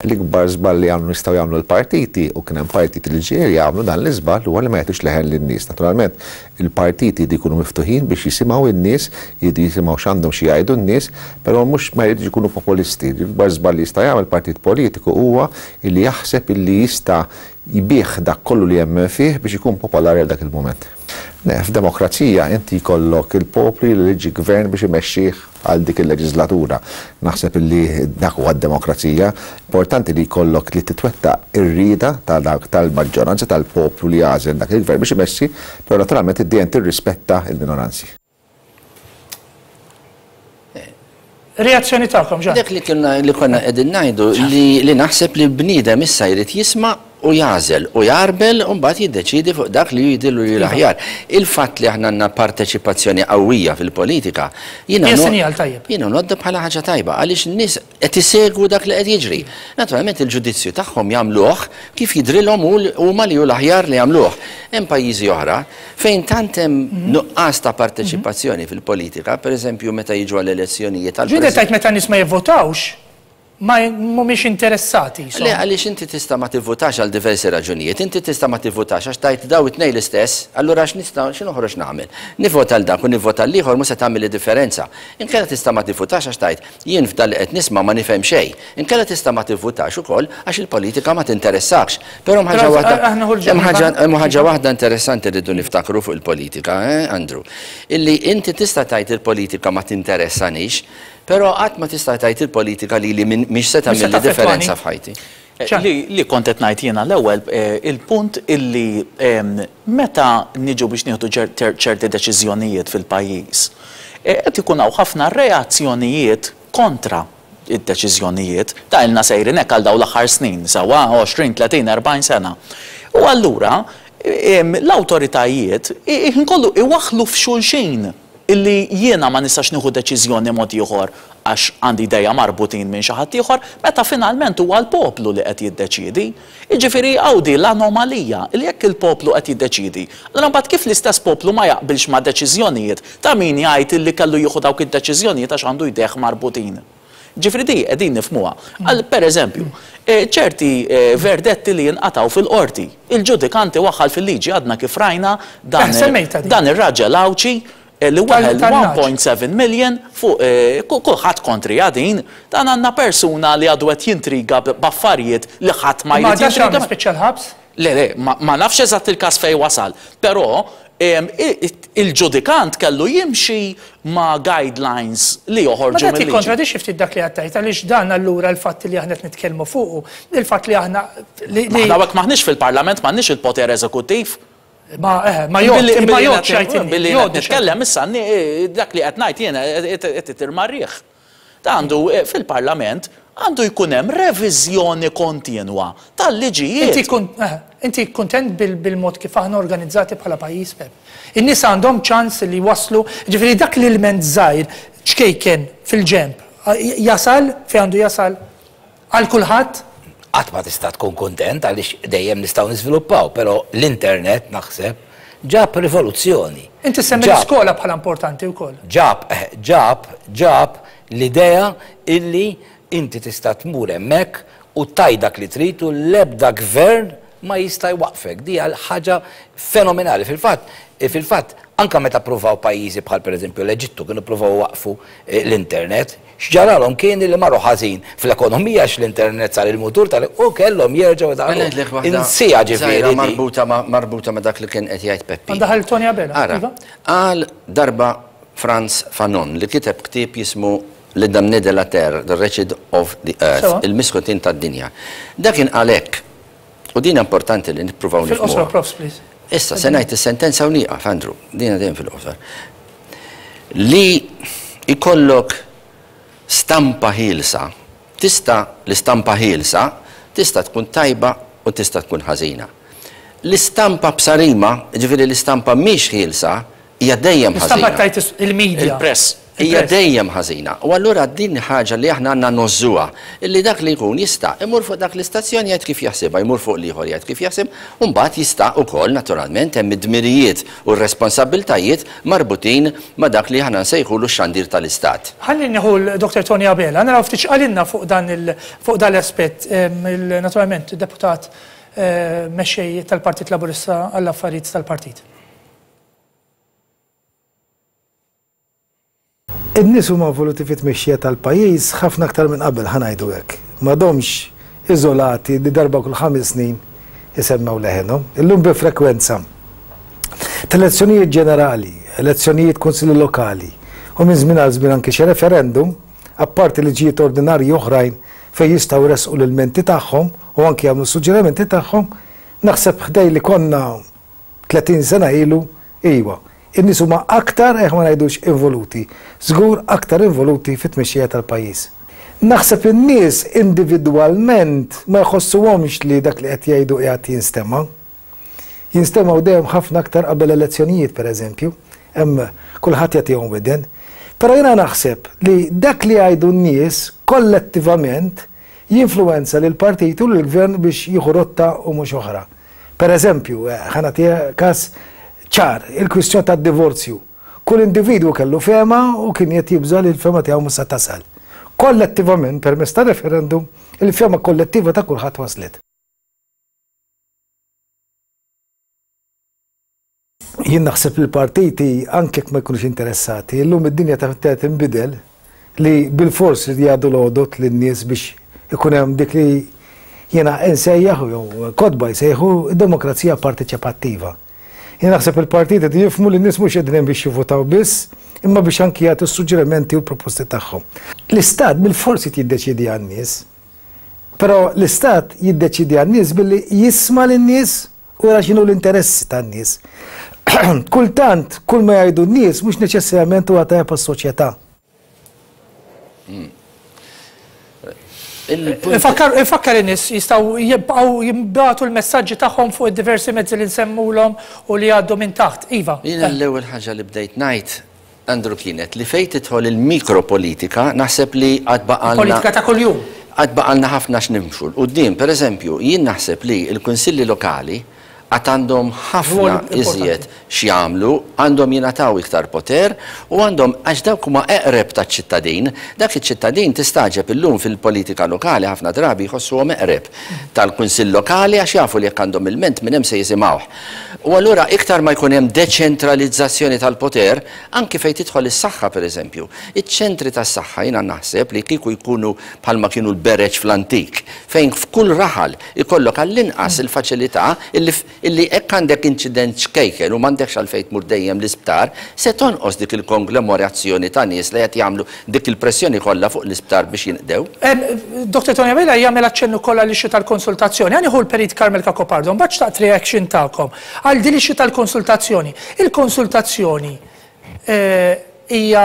L-ikbar żball li għamlu jistgħu jagħmlu l-partiti, u kien hemm partiti li ġieli jagħmlu dan l-iżball, huwa li ma jagħtux leħen lin-nies. Naturalment, il-partiti jridu jkunu miftuħin biex jisimgħu n-nies, jridu jisimgħu x'għandhom xi jgħidu n-nies, però mhux ma jridux ikunu populisti. L-ikbar żball li jista' jagħmel partit politiku huwa li jaħseb illi jista' jbigħ dak kollu li jemmen fih biex ikun popolari għal dak il-mument. Le, f'demokrazija inti jkollok il-poplu jeleġġi gvern biex imexxih għal dik il-leġiżlatura. Naħseb illi dak huwa d-demokrazija. Importanti li jkollok li titwettaq ir-rieda ta' dak tal-maġġoranza tal-poplu li għażel dak il-gvern biex imexxi, però naturalment dejjem tirrispetta l-minoranzi. Reazzjoni tagħkom, Ġan. Dak li konna li konna qegħdin ngħidu li li naħseb li l-bniedem issa jrid jisma' u jagħżel u jgħarbel u mbagħad jiddeċiedi fuq dak li hu jidhirlu li hu l-aħjar. Il-fatt li aħna għandna parteċipazzjoni qawwija fil-politika, jiena Hija sinjal tajjeb. Jiena ngħoddha bħala ħaġa tajba għaliex in-nies qed isegwu dak li qed jiġri. Naturalment il-ġudizzju tagħhom jagħmluh kif jidhrilhom huma li hu l-aħjar li jagħmluh. Hemm pajjiżi oħra fejn tant hemm nuqqas ta' parteċipazzjoni fil-politika, pereżempju meta jiġu għall-elezzjonijiet għall-President. Ġieli tgħid meta n-nies ma jivvotawx? ma mhumiex interessati. Le, għaliex inti tista' ma tivvutax għal diversi raġunijiet. Inti tista' ma tivvutax għax tgħid daw it-tnejn l-istess, allura għax nista' xi noħroġ nagħmel? Nivvota għal dak u nivvota għal ieħor mhux se tagħmilli differenza. Inkella tista' ma tivvutax għax tgħid jien f'dan li qed nisma' ma nifhem xejn. Inkella tista' ma tivvutax ukoll għax il-politika ma tinteressakx. Però hemm ħaġa waħda hemm ħaġa hemm ħaġa waħda interessanti rridu niftakru fuq il-politika, eh, Andrew. Illi inti tista' tgħid il-politika ma tinteressanix, Però qatt ma tista' tgħid il-politika lili mhix se tagħmilli differenza f'ħajti. Li kont qed ngħid jiena l-ewwel, il-punt illi meta niġu biex nieħdu ċerti deċiżjonijiet fil-pajjiż, qed ikun hawn ħafna reazzjonijiet kontra d-deċiżjonijiet. Ta' ilna sejrin hekk għal dawn l-aħħar snin, sewwa, 20, 30, 40 sena. U allura l-awtoritajiet il-ħin kollu iwaħħlu f'xulxin. Illi jiena ma nistax nieħu deċiżjoni mod ieħor għax għandi jdejja marbutin minn xi ħadd ieħor, meta finalment huwa l-poplu li qed jiddeċiedi. Jiġifieri hawn di l-anomalija, illi jekk il-poplu qed jiddeċiedi, allura mbagħad kif l-istess poplu ma jaqbilx ma' deċiżjonijiet ta' min jgħid illi kellu jieħu dawk id-deċiżjonijiet għax għandu jdejh marbutin. Ġifieri di qegħdin nifhmuha. Għal pereżempju, ċerti verdetti li jinqatgħu fil-qorti, il-ġudikant iwaħħal fil-liġi għadna kif rajna dan dan ir-raġel Għawdxi li weħel 1.7 million fuq kulħadd kontriha din, dan għandna persuna li għadu qed jintriga b'affarijiet li ħadd ma jrid jintriga. Ma għaddax għamel spiċċa l-ħabs? Le, le, ma nafx eżatt il-każ fejn wasal, però il-ġudikant kellu jimxi ma' guidelines li joħorġu Ma dak mil-liġi. jikkontradixxi ftit dak li qed tgħid għaliex dan allura l-fatt li aħna qed nitkellmu fuqu, il-fatt li aħna li. Ma aħna hawnhekk m'aħniex fil-Parlament, m'għandniex il-poter eżekuttiv. Ma eħe, ma jgħodd, ma jgħoddx jgħid inti. Billi qed nitkellem issa dak li qed ngħid jiena qed itir mar-riħ. Ta' għandu fil-Parlament għandu jkun hemm reviżjoni kontinwa tal-liġijiet. Inti inti kuntent bil-mod kif aħna organizzati bħala pajjiż, Pep? In-nies għandhom ċans li jwasslu, jiġifieri dak l-ilment żgħir, ċkejken, fil-ġenb, jasal fejn għandu jasal għal kulħadd? Qatt ma tista' tkun kuntent għaliex dejjem nistgħu niżviluppaw, però l-internet naħseb ġab rivoluzzjoni. Inti ssemmi l-iskola bħala importanti wkoll. Ġab, ġab, ġab l-idea illi inti tista' tmur hemmhekk u tgħid dak li trid u l-ebda gvern ma jista' jwaqqfek. Di hija ħaġa fenomenali. Fil-fatt, fil-fatt, anke meta ppruvaw pajjiżi bħal pereżempju l-Eġittu kienu ppruvaw iwaqqfu l-internet, X'ġaralhom kien li marru ħażin fl-ekonomija għax l-internet sar il-mutur tal u kellhom jerġgħu Mela ngħidlek waħda Insieha ġifieri żgħira di. marbuta ma' marbuta ma' dak li kien qed jgħid Peppi. Għandha ħalli Tony Abela. Ara, Iva. qal darba Frantz Fanon li kiteb ktieb jismu Le Damné de la Terre, The Wretched of the Earth, Sewa. Il-Misħutin tad-Dinja. Dak kien qal hekk, u din importanti li nippruvaw Fil-qosor, nifhmuha. Profs, please. Issa, se ngħid is-sentenza u nieqaf, Andrew, dina dejjem fil-qosor. Li jkollok stampa ħielsa, tista' l-istampa ħielsa tista' tkun tajba u tista' tkun ħażina. L-istampa b'sarima, jiġifieri l-istampa mhix ħielsa, hija dejjem ħażina. L-istampa tgħid il-media. Il-press. Hija dejjem ħażina. U allura din ħaġa li aħna għandna ngħożżuha, illi dak li jkun jista' imur fuq dak l-istazzjon jgħid kif jaħsibha, jmur fuq l-ieħor jgħid kif jaħseb, u mbagħad jista' ukoll naturalment hemm id-dmirijiet u r-responsabbiltajiet marbutin ma' dak li aħna nsejħulu x-xandir tal-Istat. Ħalli nieħu 'l Dr. Tony Abela, naraw ftit x'qalilna fuq dan il fuq dan l-aspett, naturalment deputat mexxej tal-Partit Laburista għall-affarijiet tal-partit. In-nies huma involuti fit-tmexxija tal-pajjiż ħafna aktar minn qabel, ħa ngħidu hekk. M'għadhomx iżolati li darba kull ħames snin isemmgħu leħenhom. Illum bi frekwenza ta' elezzjonijiet ġenerali, elezzjonijiet kunsilli lokali u minn żmien għal żmien anki xi referendum, apparti liġijiet ordinarji oħrajn fejn jistgħu jressqu l-ilmenti tagħhom u anki jagħmlu s-suġġerimenti tagħhom, naħseb ħdej li konna 30 sena ilu, iwa. In-nies huma aktar, eh ma ngħidux involuti, żgur aktar involuti fit-tmexxija tal-pajjiż. Naħseb in-nies individwalment ma jħossuhomx li dak li qed jgħidu qiegħed jinstema'. Jinstemgħu dejjem ħafna aktar qabel elezzjonijiet pereżempju, hemm kulħadd jagħtihom widen. Però jiena naħseb li dak li jgħidu n-nies kollettivament jinfluwenza lill-partit u lill-gvern biex jieħu rotta u mhux oħra. Per eżempju, ħa nagħti każ ċar, il-kwistjoni tad-divorzju. Kull individwu kellu fehma u kien qed jibża' li l-fehma tiegħu mhux se tasal. Kollettivament permezz ta' referendum il-fehma kollettiva ta' kulħadd waslet. Jien naħseb li l-partiti anke jekk ma jkunux interessati, illum id-dinja ta' tinbidel li bilfors li jgħaddu l-għodod lin-nies biex ikun hemm dik li jiena insejjaħ jew kotba jsejħu demokrazija parteċipattiva. Jien naħseb il-partiti qed jifhmu li n-nies mhux qegħdin hemm biex jivvutaw biss, imma biex anki jagħtu s-suġġerimenti u l-proposti tagħhom. L-Istat bilfors irid jiddeċiedi għan-nies. Però l-Istat jiddeċiedi għan-nies billi jisma' lin-nies u jara x'inhu l-interessi tan-nies. Kultant, kull ma jgħidu n-nies mhux neċessarjament huwa tajjeb għas-soċjetà. Infakkar in-nies jistgħu jibqgħu jibgħatu l-messaġġi tagħhom fuq id-diversi mezzi li nsemmulhom u li jgħaddu minn taħt. Iva. Jiena l-ewwel ħaġa li bdejt ngħid, Andrew, kienet li fejn tidħol il-mikropolitika naħseb li għad baqgħalna. Politika ta' kuljum. Għad baqgħalna ħafna x'nimxu 'l quddiem. Pereżempju, jien naħseb li l-kunsilli lokali għad għandhom ħafna iżjed x'jagħmlu, għandhom jingħataw iktar poter u għandhom, għax dawk huma eqreb taċ-ċittadin, dak iċ-ċittadin tistagħġeb illum fil-politika lokali ħafna drabi jħossuhom eqreb tal-kunsill lokali għax jafu li jekk għandhom ilment minn hemm se jisimgħuh. U allura iktar ma jkun hemm deċentralizzazzjoni tal-poter, anki fejn tidħol is-saħħa pereżempju. Iċ-ċentri tas-saħħa jiena naħseb li kieku jkunu bħalma kienu l-bereġ fl-antik, fejn f'kull raħal Ikollok għall-inqas il-faċilità illi illi hekk għandek inċident ċkejken u m'għandekx għalfejn tmur dejjem l-isptar, se tonqos dik il-konglomorazzjoni ta' nies li qed jagħmlu dik il-pressjoni kollha fuq l-isptar biex jinqdew. Dottor Tony Abela jagħmel aċċenn ukoll għall-issue tal-konsultazzjoni. Ħa nieħu l-Perit Carmel Cacopardo, mbagħad xtaqt reaction tagħkom għal din l-issue tal-konsultazzjoni. Il-konsultazzjoni hija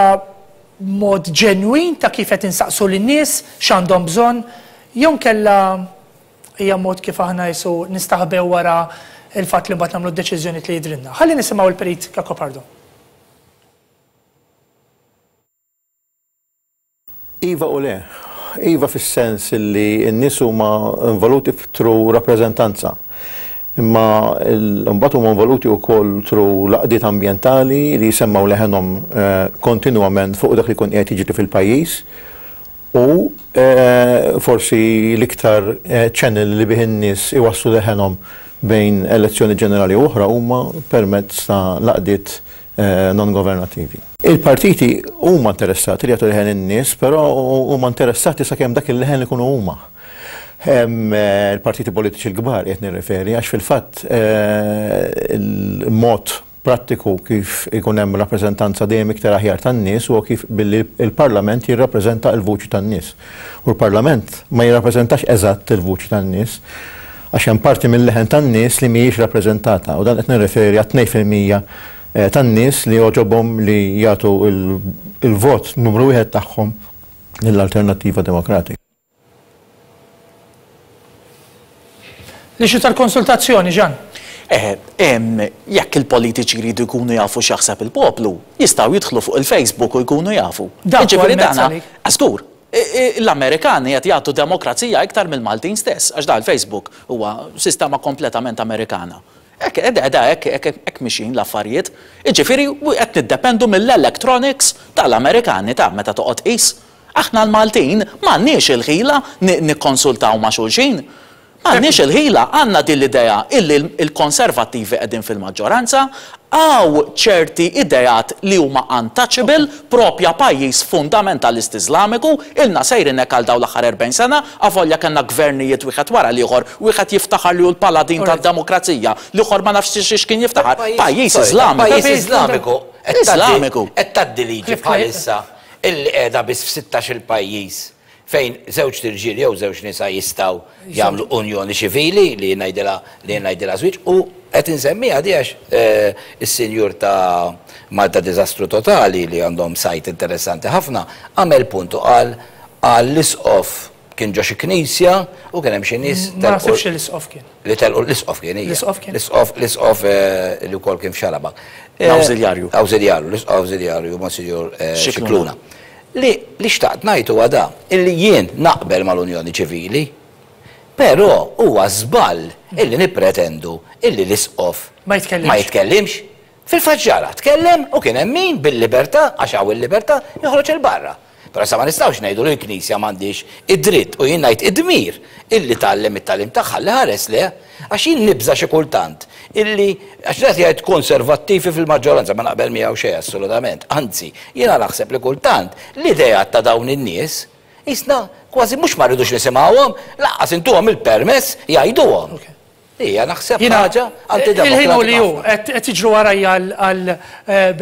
mod ġenwin ta' kif qed insaqsu lin-nies x'għandhom bżonn jew inkella hija mod kif aħna qisu nistaħbew wara l-fatt li mbagħad nagħmlu d-deċiżjonijiet li jidhrilna. Ħalli nisimgħu l-Perit Cacopardo. Iva u le. Iva fis-sens li n-nies huma involuti through rappreżentanza. Imma mbagħad huma involuti wkoll through l-għaqdiet ambjentali li jsemmgħu leħenhom kontinwament fuq dak li jkun qiegħed jiġri fil-pajjiż u forsi l-iktar channel li bih in-nies iwasslu leħenhom bejn elezzjoni ġenerali u oħra huma permezz ta' l-għaqdiet non-governattivi. Il-partiti huma interessati li jagħtu leħen in-nies, però huma interessati sakemm dak il-leħen ikunu huma. Il-partiti politiċi l-kbar qed nirreferi għax fil-fatt il-mod prattiku kif ikun hemm rappreżentanza dejjem iktar aħjar tan-nies huwa kif billi l-Parlament jirrappreżenta l-vuċi tan-nies. U l-Parlament ma jirrappreżentax eżatt il-vuċi tan-nies għax hemm parti mill-leħen tan-nies li mhijiex rappreżentata u dan qed nirreferi għat-2% tan-nies li għoġobhom li jagħtu l-vot numru wieħed tagħhom lill-Alternattiva Demokratika. L-issue tal-konsultazzjoni, Jean. Eh, jekk il-politiċi jridu jkunu jafu x'jaħseb il-poplu, jistgħu jidħlu fuq il-Facebook u jkunu jafu. Dak huwa Jiġifieri l-mezz dana, għalik. żgur, l-Amerikani qed jagħtu demokrazija iktar mill-Maltin stess, għax da l-Facebook huwa sistema kompletament Amerikana. Hekk qiegħda hekk hekk mixjin l-affarijiet. Jiġifieri qed niddependu mill-electronics tal-Amerikani ta' meta toqgħod tqis. Aħna l-Maltin m'għandniex il-ħila nikkonsultaw ma' xulxin. M'għandniex il-ħila, għandna din l-idea illi l-Konservattivi qegħdin fil-maġġoranza, hawn ċerti ideat li huma untouchable, propja pajjiż fundamentalist Iżlamiku, ilna sejrin hekk għal dawn l-aħħar 40 sena, avolja kellna gvernijiet wieħed wara l-ieħor, wieħed jiftaħar li hu l-paladin tad-demokrazija, l-ieħor ma nafx x'kien jiftaħar. Pajjiż Iżlamiku. Pajjiż Iżlamiku. Iżlamiku. Qed tgħaddi liġi bħalissa illi qiegħda biss f'sittax-il pajjiż fejn żewġt irġiel jew żewġ nisa jistgħu jagħmlu unjoni ċivili li jien ngħidilha li jien ngħidilha żwieġ u qed insemmiha di għax is-sinjur ta' Malta Diżastru Totali li għandhom sajt interessanti ħafna għamel punt u qal qal l-isqof kien ġo xi knisja u kien hemm xi nies Ma naħsibx li l-isqof kien. Li telqu l-isqof kien hija. L-isqof kien. L-isqof l-isqof li wkoll kien f'Xarabank. L-awżiljarju. Awżiljarju, l-isqof awżiljarju Monsinjur Scicluna. Li li xtaqt ngħid huwa dan, illi jien naqbel mal-unjoni ċivili, però huwa żball illi nippretendu illi l-isqof Ma jitkellimx. ma jitkellimx. Fil-fatt ġara, tkellem u kien hemm min bil-libertà, għax hawn il-libertà, joħroġ 'il barra. Però sa ma nistgħux ngħidu li l-Knisja m'għandhiex id-dritt u jien ngħid id-dmir illi tgħallem it-tagħlim tagħha li ħares le għax jien nibża' xi kultant illi għax qed jgħid konservattivi fil-maġġoranza ma naqbel miegħu xejn assolutament. Anzi, jiena naħseb li kultant l-ideat ta' dawn in-nies qisna kważi mhux ma rridux nisimgħuhom, lanqas intuhom il-permess jgħiduhom. Hija naħseb ħaġa antidemokratika. Il-ħin hu li hu, qed tiġru warajja għal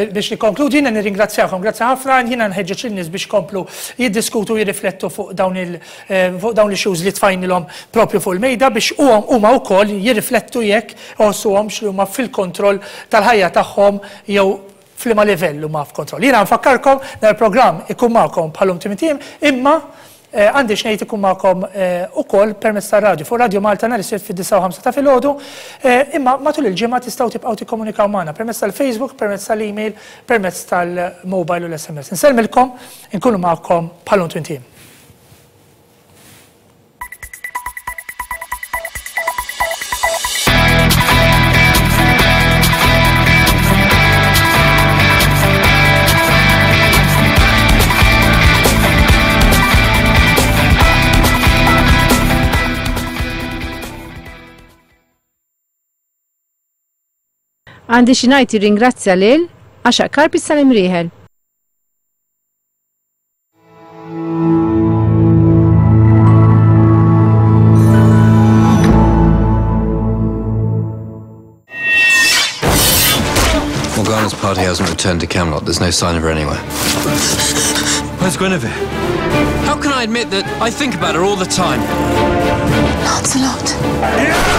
biex nikkonkludi, jiena nirringrazzjakom, grazzi ħafna, jiena nħeġġeġ lin-nies biex ikomplu jiddiskutu u jirriflettu fuq dawn il fuq dawn l-issues li tfajnilhom propju fuq il-mejda biex huma wkoll jirriflettu jekk iħossuhomx li huma fil-kontroll tal-ħajja tagħhom jew f'liema livell huma f'kontroll. Jiena nfakkarkom dan il-programm ikun magħkom bħal-lum tmint ijiem imma Għandi x'ngħid ikun magħkom ukoll permezz tar-radju fuq Radio Malta nhar is-Sibt fid-disgħa u ħamsa ta' filgħodu, imma matul il-ġimgħa tistgħu tibqgħu tikkomunikaw magħna permezz tal-Facebook, permezz tal-email, permezz tal-mobile u l-SMS. Insellmilkom, inkunu magħkom bħal-lum tmint ijiem. Għandi xi ngħid jirringrazzja lil Għaxaq Carpets tal-Imrieħel. Morgana's party hasn't returned to Camelot. There's no sign of her anywhere. Where's Guinevere? How can I admit that I think about her all the time? Lancelot.